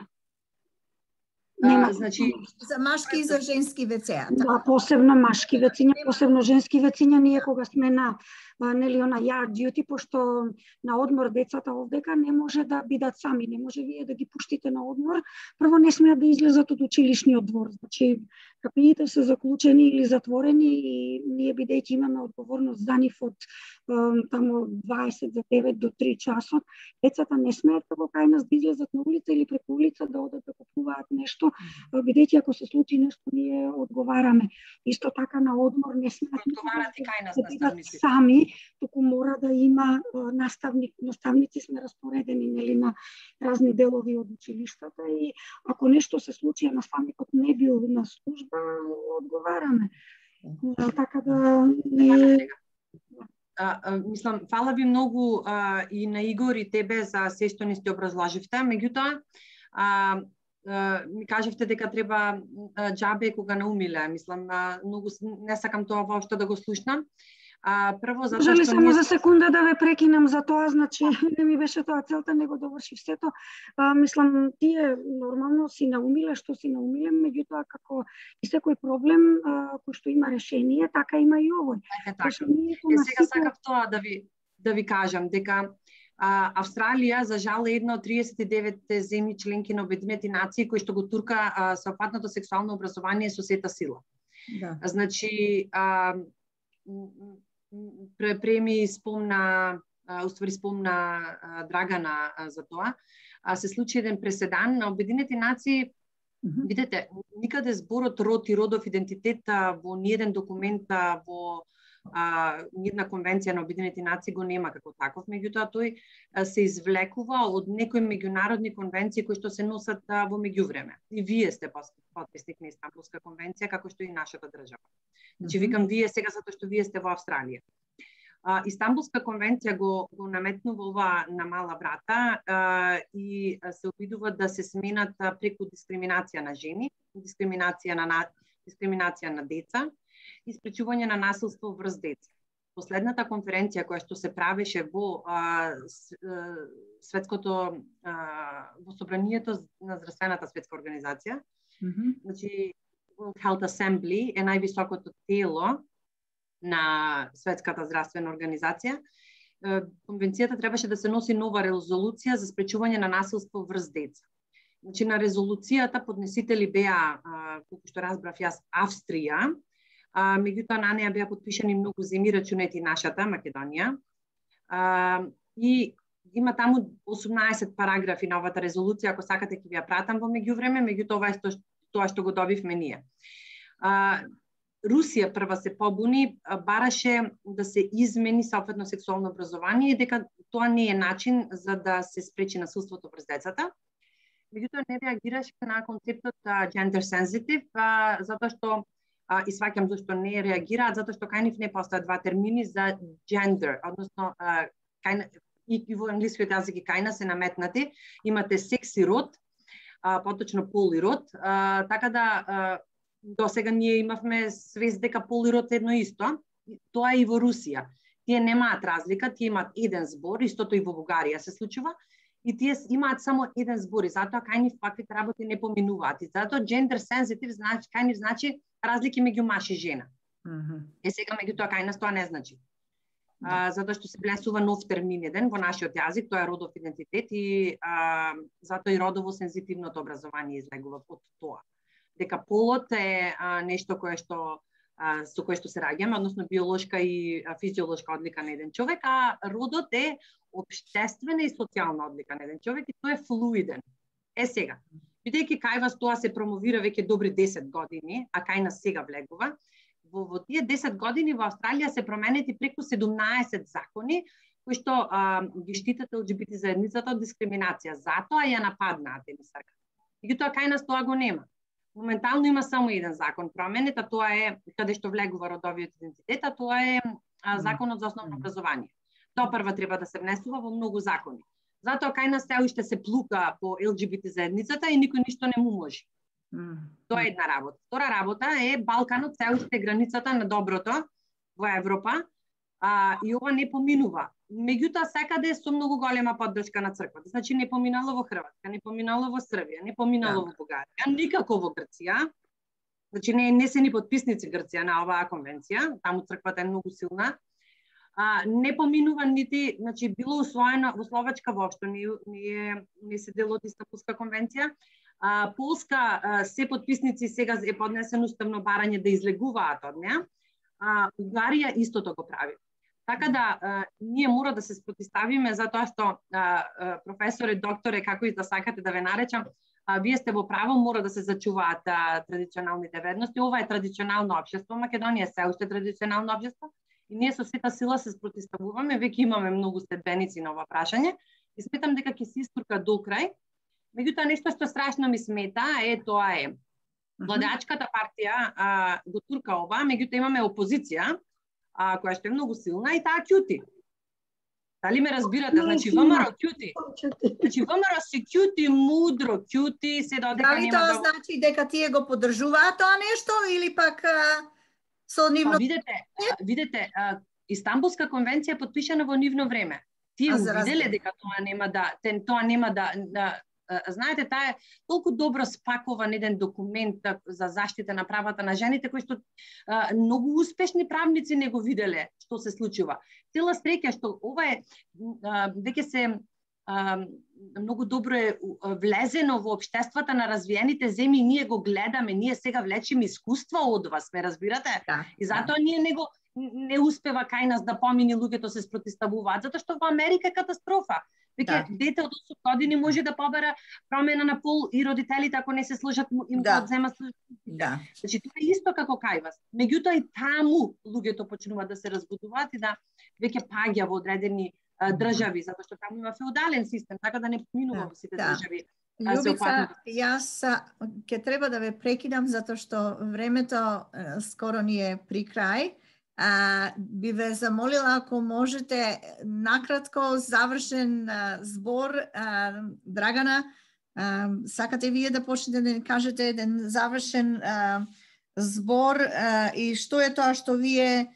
Нема. Значи За машки и за женски вецеа. Да, посебно машки вециња, посебно женски вециња, ние кога сме на нели она yard duty, пошто на одмор децата овдека не може да бидат сами, не може вие да ги пуштите на одмор, прво не смеат да излезат од училишниот двор. Значи кабините се заклучени или затворени и ние бидејќи имаме одговорност за нив од тамо 20 за 9 до 3 часот, децата не смеат како кај нас да излезат на улица или преку улица да одат да купуваат нешто, бидејќи ако се случи нешто ние одговараме. Исто така на одмор не смеат одговарате кај нас да бидат сами, туку мора да има наставници сме распоредени нели на разни делови од училиштата и ако нешто се случи, наставникот не бил на служба, одговараме. Така да не мислам, фала ви многу и на Игор и тебе за се што ни сте образложивте, меѓутоа ми кажавте дека треба џабе кога наумиле. Мислам, многу не сакам тоа воопшто да го слушнам. Прво затоа Жали што само за секунда да ве прекинам за тоа, значи не ми беше тоа целта, него довршив сето. Мислам, тие нормално си наумиле што си наумиле, меѓутоа како и секој проблем кој што има решение, така има и овој. Така. Сега сакав тоа да ви кажам дека Австралија за жал е една од 39 земји членки на Обединети нации кои што го турка соопфатното сексуално образование со сета сила. Да. Значи преми спомна Драгана за тоа. Се случи еден преседан на Обединети нации. Видете, никаде зборот род и родов идентитет во ниеден документ во ниедна конвенција на Обединети нации го нема како таков, меѓутоа тој се извлекува од некои меѓународни конвенции кои што се носат во меѓувреме. И вие сте потписник на Истанбулска конвенција, како што и нашата држава. Значи викам вие сега затоа што вие сте во Австралија. Истанбулска конвенција го наметнува ова на мала врата и се обидува да се сменат преку дискриминација на жени, дискриминација на деца и спречување на насилство врз деца. Последната конференција која што се правеше во светското во собранието на здравствената светска организација, значи World Health Assembly е највисокото тело на Светската здравствена организација. Конвенцијата требаше да се носи нова резолуција за спречување на насилство врз деца. Значи на резолуцијата поднесители беа, колку што разбрав јас, Австрија, меѓутоа на неа беа потпишани многу земји, рачунети нашата Македонија. И има таму 18 параграфи на овата резолуција, ако сакате ќе ви ја пратам во меѓувреме, меѓутоа ова е тоа што го добивме ние. Русија прва се побуни, бараше да се измени соопфатно сексуално образование и дека тоа не е начин за да се спречи насилството врз децата. Меѓутоа не реагираше на концептот gender sensitive, затоа што и сваќам зашто не реагираат, затоа што кај нив не постојат два термини за gender, односно и во англискиот јазик и кај нас се наметнати, имате секс и род, поточно пол и род, така да до сега ние имавме свест дека пол и род е едно исто, тоа е и во Русија. Тие немаат разлика, тие имаат еден збор, истото и во Бугарија се случува, и тие имаат само еден збор, и затоа кај нив ваквите работи не поминуваат. И затоа gender sensitive значи кај нив значи разлики меѓу маж и жена. Сега меѓутоа кај нас тоа не значи. Затоа што се влесува нов термин еден во нашиот јазик, тоа е родов идентитет и затоа и родово сензитивното образование излегува од тоа. Дека полот е нешто кое што со кое што се раѓаме, односно биолошка и физиолошка одлика на еден човек, а родот е општествена и социјална одлика на еден човек и тој е флуиден. Сега, бидејќи кај вас тоа се промовира веќе добри 10 години, а кај нас сега влегува, во тие 10 години во Австралија се променети преку 17 закони кои што ги штитат ЛГБТ заедницата од дискриминација. Затоа ја нападнаат емисарка. Меѓутоа кај нас тоа го нема. Моментално има само еден закон променет, а тоа е каде што влегува родовиот идентитет, а тоа е законот за основно образование. Тоа прва треба да се внесува во многу закони. Затоа кај нас се уште се плука по ЛГБТ заедницата и никој ништо не му може. Тоа е една работа. Втора работа е Балканот се уште границата на доброто во Европа, и ова не поминува. Меѓутоа секаде е со многу голема поддршка на црквата. Значи не поминало во Хрватска, не поминало во Србија, не поминало во Бугарија, никако во Грција. Значи не се ни потписници Грција на оваа конвенција, таму црквата е многу силна. Не поминува нити, значи било усвоено во Словачка воопшто не се дел од Истанбулска конвенција. Полска се потписници, сега е поднесено уставно барање да излегуваат од неа. Бугарија истото го прави. Така да ние мора да се спротиставиме затоа што професоре, докторе, како и да сакате да ве наречам, вие сте во право, мора да се зачуваат традиционалните вредности. Ова е традиционално општество, Македонија се уште традиционално општество и ние со сета сила се спротиставуваме, веќе имаме многу следбеници на ова прашање и сметам дека ќе се истурка до крај. Меѓутоа нешто што страшно ми смета тоа е владеачката партија го турка ова, меѓутоа имаме опозиција која што е многу силна и таа ќути. Дали ме разбирате? Значи ВМРО ќути. Значи ВМРО се ќути, мудро ќути, се додека нема. Дали тоа значи дека тие го поддржуваат тоа нешто или пак со нивно... Видете, Истанбулска конвенција е потпишана во нивно време. Тие увиделе дека тоа нема да знаете, таа е толку добро спакован еден документ за заштита на правата на жените, кој што многу успешни правници не го виделе што се случува. Цела среќа што ова е веќе се многу добро е влезено во општествата на развиените земји, ние го гледаме, ние сега влечиме искуство од вас, ме разбирате? И затоа ние не успева кај нас да помини, луѓето се спротиставуваат, затоа што во Америка е катастрофа. Веќе дете од 8 години може да побера промена на пол и родителите ако не се сложат им да одзема службите. Значи тоа е исто како кај вас. Меѓутоа и таму луѓето почнуваат да се разбудуваат и да веќе паѓа во одредени држави, затоа што таму има феудален систем, така да не поминува во сите држави. Љубица, јас ќе треба да ве прекидам затоа што времето скоро ни е при крај. Би ве замолила ако можете накратко завршен збор, Драгана, сакате вие да почнете да ни кажете еден завршен збор и што е тоа што вие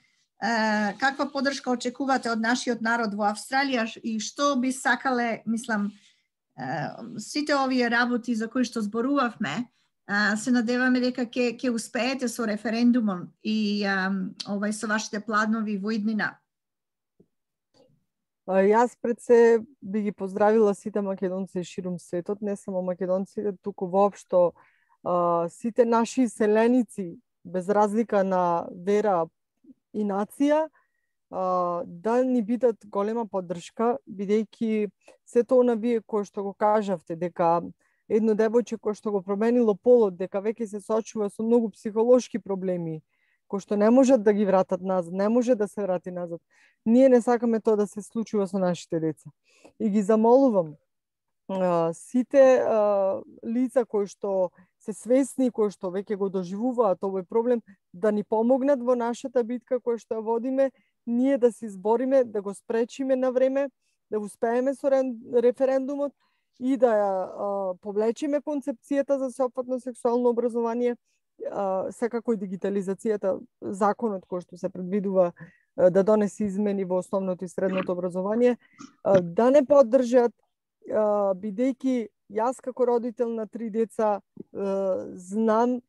каква поддршка очекувате од нашиот народ во Австралија и што би сакале, мислам, сите овие работи за кои што зборувавме, се надеваме дека ќе успеете со референдумот и со вашите планови во иднина. Јас пред се би ги поздравила сите македонци ширум светот, не само македонците, туку воопшто сите наши селеници, без разлика на вера и нација, да ни бидат голема поддршка, бидејќи сето она вие кој што го кажавте, дека едно девојче кој што го променило полот, дека веќе се соочува со многу психолошки проблеми, кои што не можат да ги вратат назад, не може да се врати назад. Ние не сакаме тоа да се случува со нашите деца. И ги замолувам сите лица кои што се свесни, кои што веќе го доживуваат овој проблем, да ни помогнат во нашата битка која што ја водиме, ние да се избориме, да го спречиме на време, да успееме со референдумот и да ја повлечиме концепцијата за сеопфатно сексуално образование, секако и дигитализацијата, законот кој што се предвидува да донесе измени во основното и средното образование, да не поддржат, бидејќи јас како родител на 3 деца знам,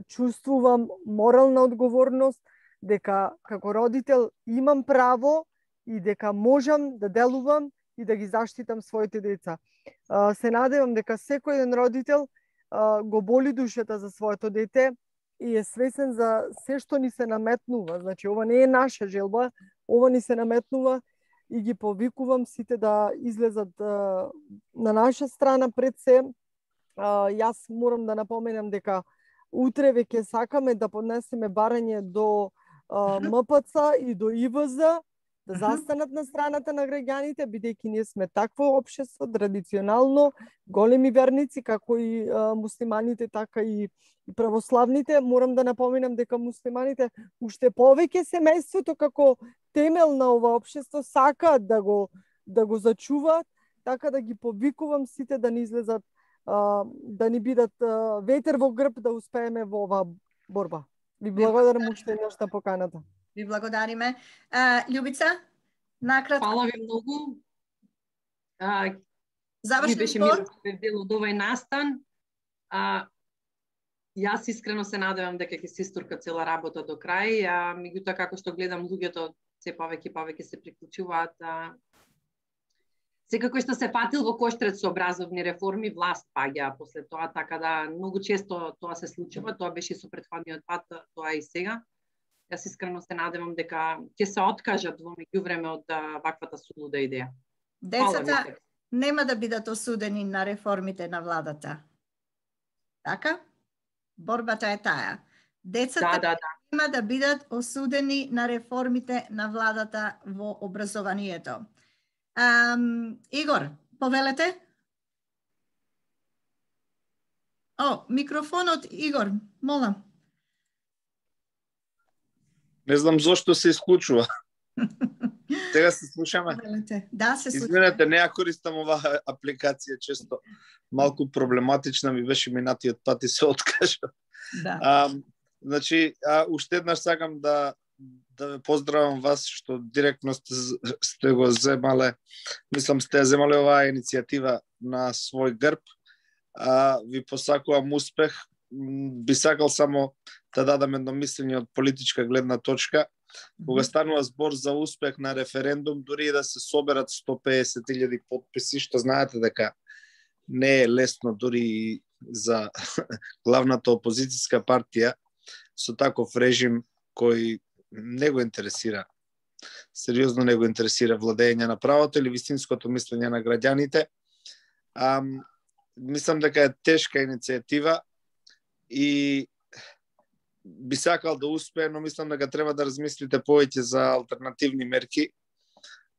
чувствувам морална одговорност дека како родител имам право и дека можам да делувам и да ги заштитам своите деца. Се надевам дека секој еден родител го боли душата за своето дете и е свесен за се што ни се наметнува. Значи, ова не е наша желба, ова ни се наметнува и ги повикувам сите да излезат на наша страна пред се. Јас морам да напоменам дека утре веќе сакаме да поднесеме барање до МПЦ и до ИВЗ, да застанат на страната на граѓаните, бидејќи ние сме такво општество, традиционално, големи верници, како и муслиманите, така и православните. Морам да напоменам дека муслиманите уште повеќе семејството како темел на ова општество сакаат да го зачуваат, така да ги повикувам сите да ни излезат, да ни бидат ветер во грб да успееме во оваа борба. Ви благодарам уште еднаш на поканата. Ви благодариме. Љубица, накратко. Фала ви многу. Ми Завршен беше збор. мило дел од овај настан. Јас искрено се надевам дека ќе се истурка цела работа до крај, меѓутоа како што гледам луѓето се повеќе се приклучуваат. Секако што се фатил во коштрец со образовни реформи, власт паѓа после тоа, така да многу често тоа се случува, тоа беше со претходниот пат, тоа и сега. Јас искрено се надевам дека ќе се откажат во меѓувреме од ваквата сулуда идеја. Децата нема да бидат осудени на реформите на владата. Така? Борбата е таа. Децата нема да бидат осудени на реформите на владата во образованието. Игор, повелете? Микрофонот, Игор, молам. Не знам зошто се исклучува. Сега се слушаме. Да, се слушаме. Извинете, не ја користам оваа апликација често. Малку проблематична ми беше минатиот пат и се откажа. Да. Значи, уште еднаш сакам да ве поздравам вас што директно сте го земале, мислам сте ја земале оваа иницијатива на свој грб. Ви посакувам успех. Би сакал само да дадам едно мислење од политичка гледна точка. Кога станува збор за успех на референдум, дури и да се соберат 150.000 подписи, што знаете дека не е лесно дури за главната опозицијска партија со таков режим кој не го интересира, сериозно не го интересира владење на правото или вистинското мислење на граѓаните. Мислам дека е тешка иницијатива и би сакал да успее, но мислам дека треба да размислите повеќе за алтернативни мерки.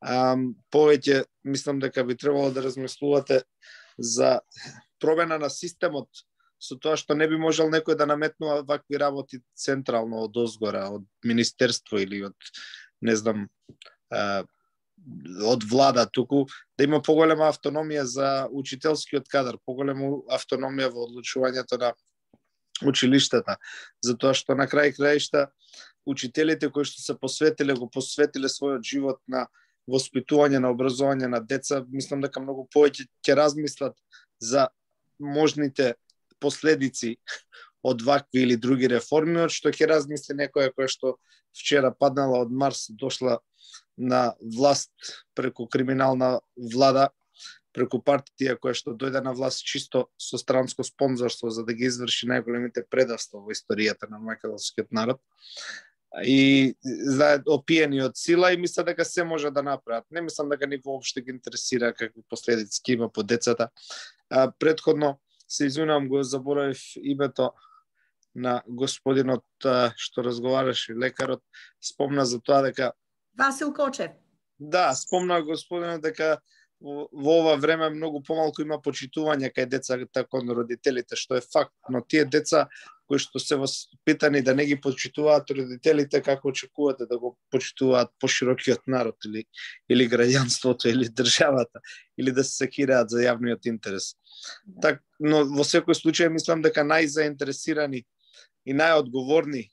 Повеќе мислам дека би требало да размислувате за промена на системот, со тоа што не би можел некој да наметнува вакви работи централно од озгора, од министерство или од, не знам, од влада, туку да има поголема автономија за учителскиот кадар, поголема автономија во одлучувањето на училиштата, затоа што на крај краишта учителите кои што се го посветиле својот живот на воспитување, на образование на деца, мислам дека многу повеќе ќе размислат за можните последици од вакви или други реформи, од што ќе размисли некоја која што вчера паднала од Марс, дошла на власт преку криминална влада, преку партија која што дојде на власт чисто со странско спонзорство за да ги изврши најголемите предавства во историјата на македонскиот народ. И опиени од сила и мисля дека се може да направат. Не мислам дека ни воопште ги интересира какви последици ќе има по децата. Претходно се извинувам, го заборавив името на господинот што разговараше, лекарот, спомна за тоа дека Васил Кочев. Да, спомна господинот дека во ова време многу помалку има почитување кај децата кон родителите, што е факт, но тие деца кои што се воспитани да не ги почитуваат родителите, како очекувате да го почитуваат поширокиот народ или граѓанството или државата, или да се секираат за јавниот интерес. Так, но во секој случај мислам дека најзаинтересирани и најодговорни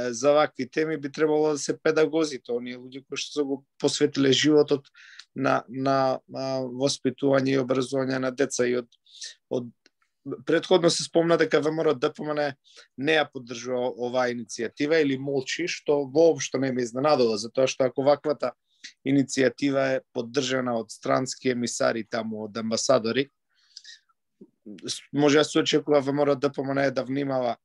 за вакви теми би требало да се педагозите, оние луѓе кои што го посветиле животот на воспитување и образование на деца. И од претходно се спомна дека ВМРО-ДПМН не ја поддржува оваа иницијатива или молчи, што воопшто не ме изненадува, затоа што ако ваквата иницијатива е поддржана од странски емисари таму, од амбасадори, може да се очекува ВМРО-ДПМН да внимава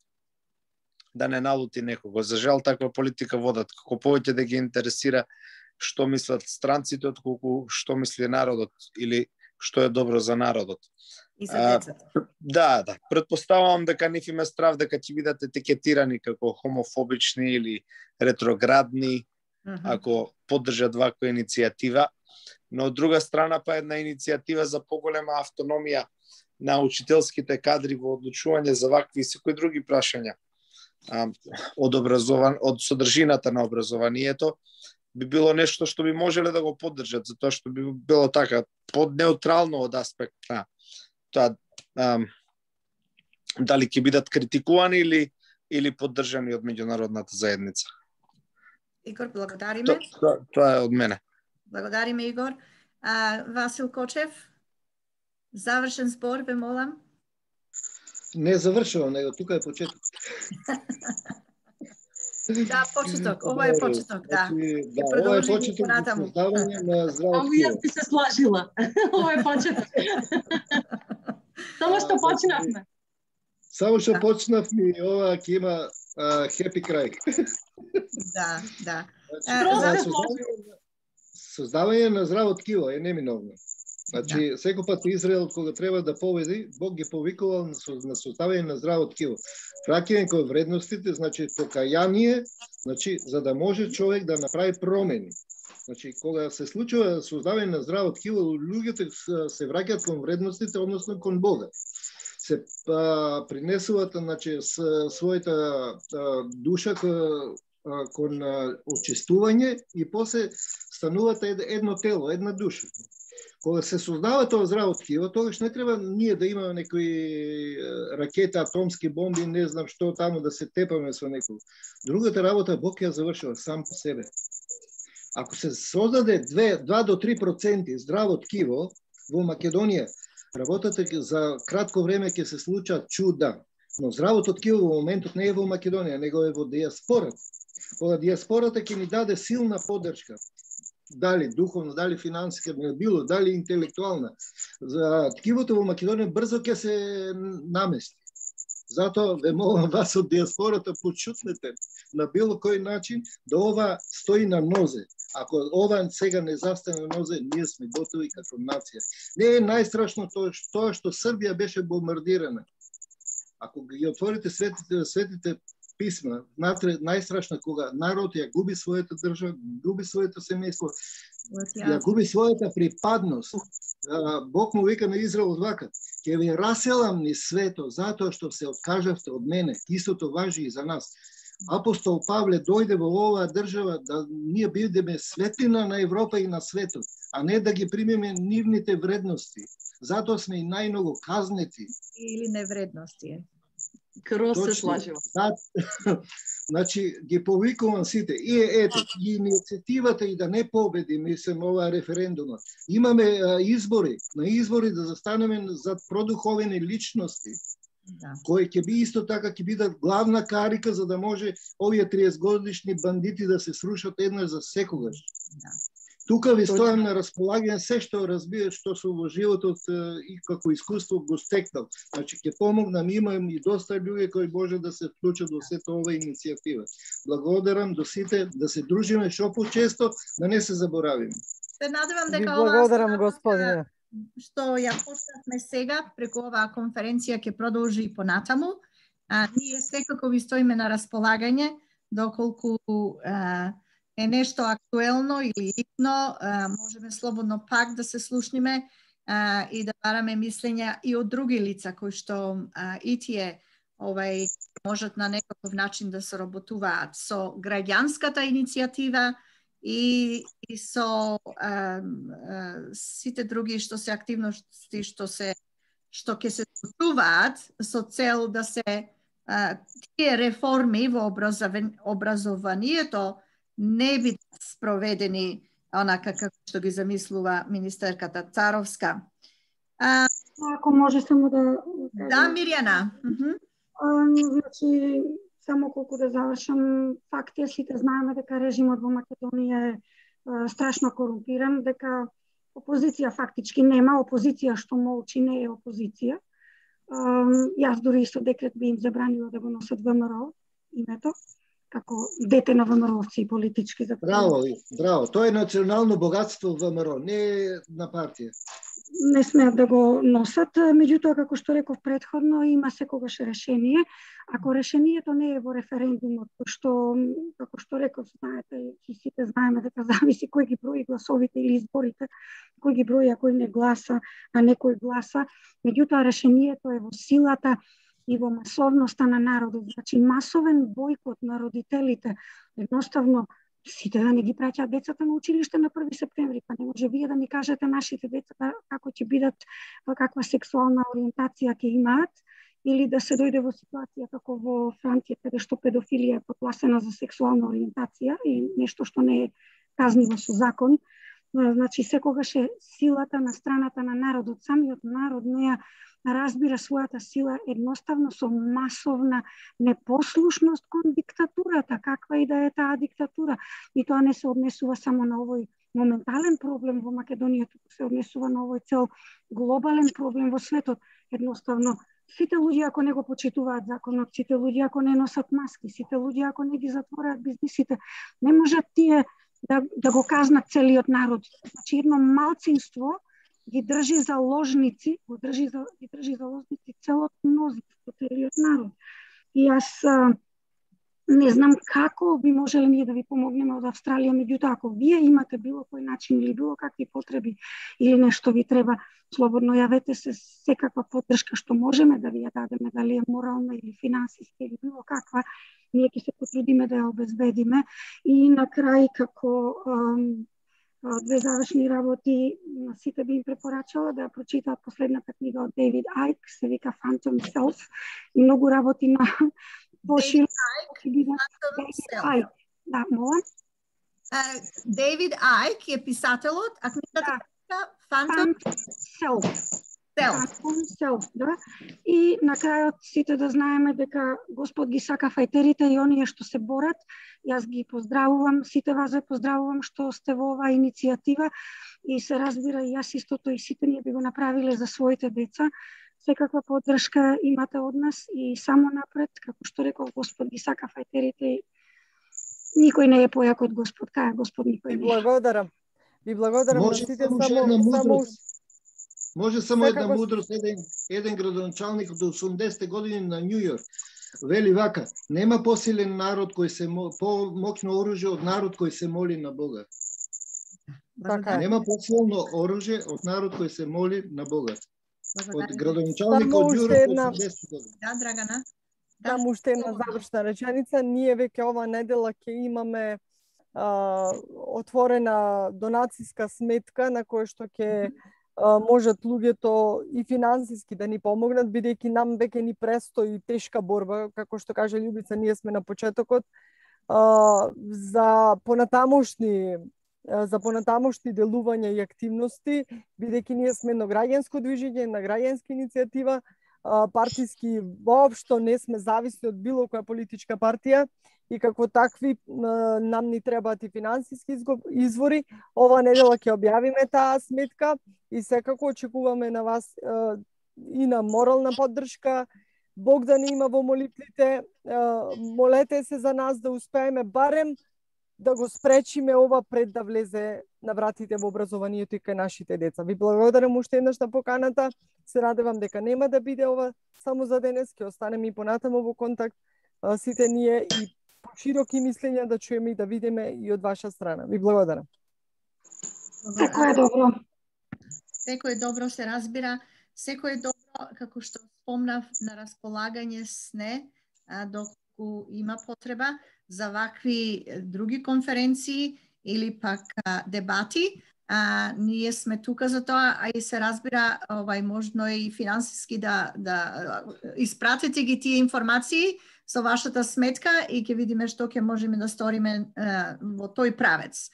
да не налути некого. За жал, таква политика водат. Како повеќе да ги интересира што мислат странците, отколку што мисли народот или што е добро за народот. И за децата. Да. Предпоставувам дека нив има страв дека ќе бидат етикетирани како хомофобични или ретроградни, ако поддржат ваква иницијатива. Но од друга страна па една иницијатива за поголема автономија на учителските кадри во одлучување за вакви и секои други прашања од содржината на образованието, би било нешто што би можеле да го поддржат, затоа што би било така поднеутрално од аспект на тоа дали ќе бидат критикувани или поддржани од меѓународната заедница. Игор, благодариме. Тоа е од мене. Благодариме, Игор. Васил Кочев, завршен збор, ве молам. Не завршувам, него тука е почеток. Да, почеток. Ова е почеток, да. Да, ова е почеток за создавање на здраво Ама јас би се слажила. Ова е почеток. Само што почнавме. Само што почнавме и ова ќе има хепи крај. Да. Создавање на здраво ткиво е неминовно. Значи, секој пат Израел, кога треба да победи, Бог ги повикувал на создавање на здраво ткиво. Враќање кон вредностите, значи покаяние, значи за да може човек да направи промени. Значи, кога се случува создавање на здраво ткиво, луѓето се враќаат кон вредностите, односно кон Бога. Се принесуваат, значи, својата душа кон очистување и после стануваат едно тело, една душа. Кога се создава тоа здраво ткиво, тогаш не треба ние да имаме некои ракети, атомски бомби, не знам што таму да се тепаме со некој. Другата работа Бог ја завршува сам по себе. Ако се создаде 2 до 3% здраво ткиво во Македонија, работата за кратко време ќе се случат чуда. Но здравото ткиво во моментот не е во Македонија, него е во диаспората. Кога диаспората ќе ни даде силна поддршка, дали духовно, дали финансиска, било, дали интелектуална, за ткивото во Македонија брзо ќе се намести. Затоа ве молам вас од диаспората, почутнете на било кој начин да ова стои на нозе. Ако ова сега не застане на нозе, ние сме готови како нација. Не е најстрашно тоа што Србија беше бомбардирана. Ако ги отворите светите писма, најстрашно кога народ ја губи својата држава, губи своето семејство, ја губи својата припадност. Бог му вика на Израел вака: ќе ви раселам низ свето затоа што се откажавте од мене. Истото важи и за нас. Апостол Павле дојде во оваа држава да ние бидеме светлина на Европа и на светот, а не да ги примеме нивните вредности. Затоа сме и најмногу казнети. Или невредности. Крос се слажува. Значи, ги повикувам сите. И ете, и инициативата и да не победи, мислам, ова референдума. Имаме избори, на избори да застанеме зад продуховени личности, кои ќе би исто така ќе бидат главна карика за да може овие 30 годишни бандити да се срушат еднаш за секогаш. Тука ви стојам на располагање се што разбирам што со во животот и како искуство го стекнал. Значи ќе помогнам, имам и доста луѓе кои може да се вклучат во сета ова иницијатива. Благодарам до сите да се дружиме што почесто, да не се заборавиме. Се надевам дека благодарам, господине, што ја почнавме сега преку оваа конференција ќе продолжи и понатаму. Ние секако ви стоиме на располагање доколку е нешто актуелно или итно, можеме слободно пак да се слушниме и да бараме мислења и од други лица кои што и тие можат на некаков начин да се работуваат со граѓанската иницијатива и со сите други што се активности што ќе се случуваат со цел да се тие реформи во образованието не бидат спроведени онака како што ги замислува министерката Царовска. Ако може само да... Да, Мирјана. Значи, само колку да завршам, факт е, сите знаеме дека режимот во Македонија е страшно корумпиран, дека опозиција фактички нема, опозиција што молчи не е опозиција. Јас дури исто декрет би им забранила да го носат ВМРО името, како дете на ВМРО-овци и политички закони. Браво. Тоа е национално богатство ВМРО, не на партија. Не смеат да го носат, меѓутоа, како што реков претходно, има секогаш решение. Ако решението не е во референдумот, што, како што реков, знаете, и сите знаеме дека зависи кој ги брои гласовите или изборите, кој ги брои, а кој не гласа, а некој гласа. Меѓутоа, решението е во силата и во масовноста на народот. Значи, масовен бойкот на родителите, едноставно сите да не ги праќаат децата на училиште на 1 септември, па не може вие да ми кажете нашите деца како ќе бидат, каква сексуална ориентација ќе имаат, или да се дојде во ситуација како во Франција, каде што педофилија е подгласена за сексуална ориентација и нешто што не е казниво со закон. Значи, секогаш е силата на страната на народот. Самиот народ не разбира својата сила едноставно со масовна непослушност кон диктатурата, каква и да е таа диктатура. И тоа не се однесува само на овој моментален проблем во Македонија, туку се однесува на овој цел глобален проблем во светот. Едноставно, сите луѓе ако не го почитуваат законот, сите луѓе ако не носат маски, сите луѓе ако не ги затвораат бизнисите, не можат тие да го казнат целиот народ. Значи, едно малцинство ги држи заложници, ги држи заложници целот мнозинство, целиот народ. И јас не знам како би можеле ние да ви помогнеме од Австралија, меѓутоа ако вие имате било кој начин или било какви потреби или нешто ви треба, слободно јавете се, секаква поддршка што можеме да ви ја дадеме, дали е морална или финансиска или било каква, ние ќе се потрудиме да ја обезбедиме. И на крај, како две завршни работи, сите би им препорачала да ја прочитаат последната книга од Дейвид Айк, се вика Phantom Self, и многу работи на поширо. Айк. Да, молам. Дейвид Айк е писателот, а книгата Phantom Self. Да. И на крајот сите да знаеме дека Господ ги сака фајтерите и оние што се борат. Јас ги поздравувам, сите вас ве поздравувам што сте во оваа иницијатива и се разбира и јас истото и сите ние би го направиле за своите деца. Секаква поддршка имате од нас и само напред, како што реков Господ ги сака фајтерите и никој не е појак од Господ, кај Господ никој не е. Ви благодарам на сите Може само една мудрост, еден градоначалник од 80-те години на Њу Јорк вели вака: нема посилен народ кој се помоќно оружје од народ кој се моли на Бога. Нема посилно оружје од народ кој се моли на Бога. Од градоначалник од Њу Јорк 80-те години. Да, Драгана. Само уште една завршна реченица. Ние веќе ова недела ќе имаме отворена донацијска сметка на која што ќе можат луѓето и финансиски да ни помогнат, бидејќи нам веќе ни престои тешка борба, како што каже Љубица, ние сме на почетокот, за понатамошни делувања и активности, бидејќи ние сме едно граѓанско движење, една граѓанска иницијатива, партиски воопшто не сме зависни од било која политичка партија и како такви нам ни требаат и финансиски извори. Ова недела ќе објавиме таа сметка и секако очекуваме на вас и на морална поддршка. Бог да ни има во молитвите. Молете се за нас да успееме барем да го спречиме ова пред да влезе на вратите во образованието и кај нашите деца. Ви благодарам уште еднаш на поканата. Се надевам дека нема да биде ова само за денес, ќе останеме и понатаму во контакт сите ние и широки мислења да чуеме и да видиме и од ваша страна. Ви благодарам. Секој е добро. Секој е добро, се разбира. Секој е добро, како што спомнав, на располагање сне, доколку има потреба за вакви други конференции или пак дебати. Ние сме тука за тоа, а и се разбира, можно и финансиски да испратите ги тие информации со вашата сметка и ќе видиме што ќе можеме да сториме во тој правец.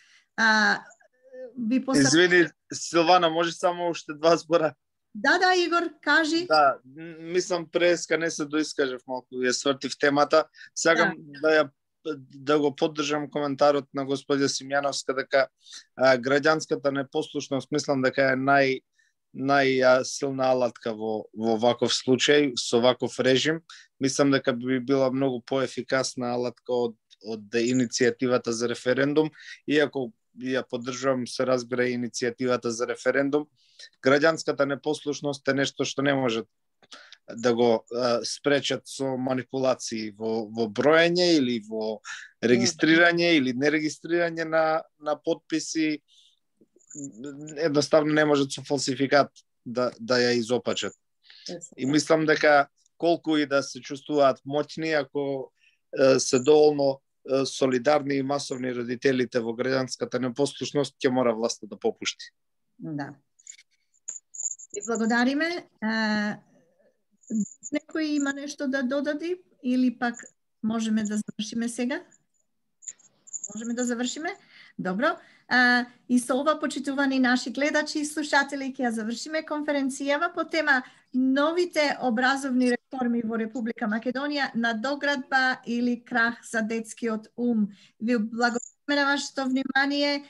Извини, Силвана, може само уште 2 збора? Да, Игор, кажи. Да, мислам преска не се доискажав малку, ја свртив темата. Сакам да го поддржам коментарот на господја Симјановска дека граѓанската непослушност мислам дека е најсилна алатка во ваков случај, со ваков режим. Мислам дека би била многу поефикасна алатка од иницијативата за референдум, иако ја поддржувам, се разбира, иницијативата за референдум. Граѓанската непослушност е нешто што не може да го спречат со манипулации во броење или во регистрирање или нерегистрирање на подписи. Едноставно не можат со фалсификат да ја изопачат. И мислам дека колку и да се чувствуваат моќни, ако се доволно солидарни и масовни родителите во граѓанската непослушност, ќе мора власта да попушти. Да. И благодариме. Некој има нешто да додади или пак можеме да завршиме сега? Можеме да завршиме? Добро. И со ова, почитувани наши гледачи и слушатели, ќе завршиме конференцијава по тема новите образовни реформи во Република Македонија, надоградба или крах за детскиот ум. Ви благодариме на вашето внимание.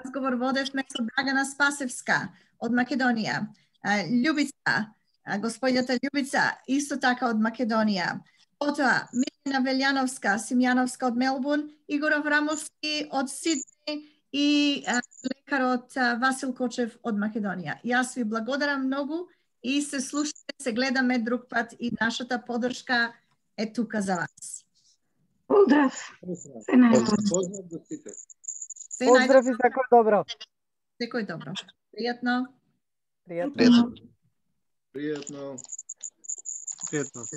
Разговор водевме со Драгана Спасевска од Македонија. Љубица, господината Љубица, исто така од Македонија. Потоа, Милена Велјановска, Симјановска од Мелбурн, Игор Аврамовски од Сидни и лекарот Васил Кочев од Македонија. Јас ви благодарам многу и се слушаме, се гледаме друг пат и нашата поддршка е тука за вас. Поздрав. Се најдобро. Поздрав до сите. Поздрав и секој добро. Секој добро. Пријатно. Пријатно. Пријатно. Пријатно.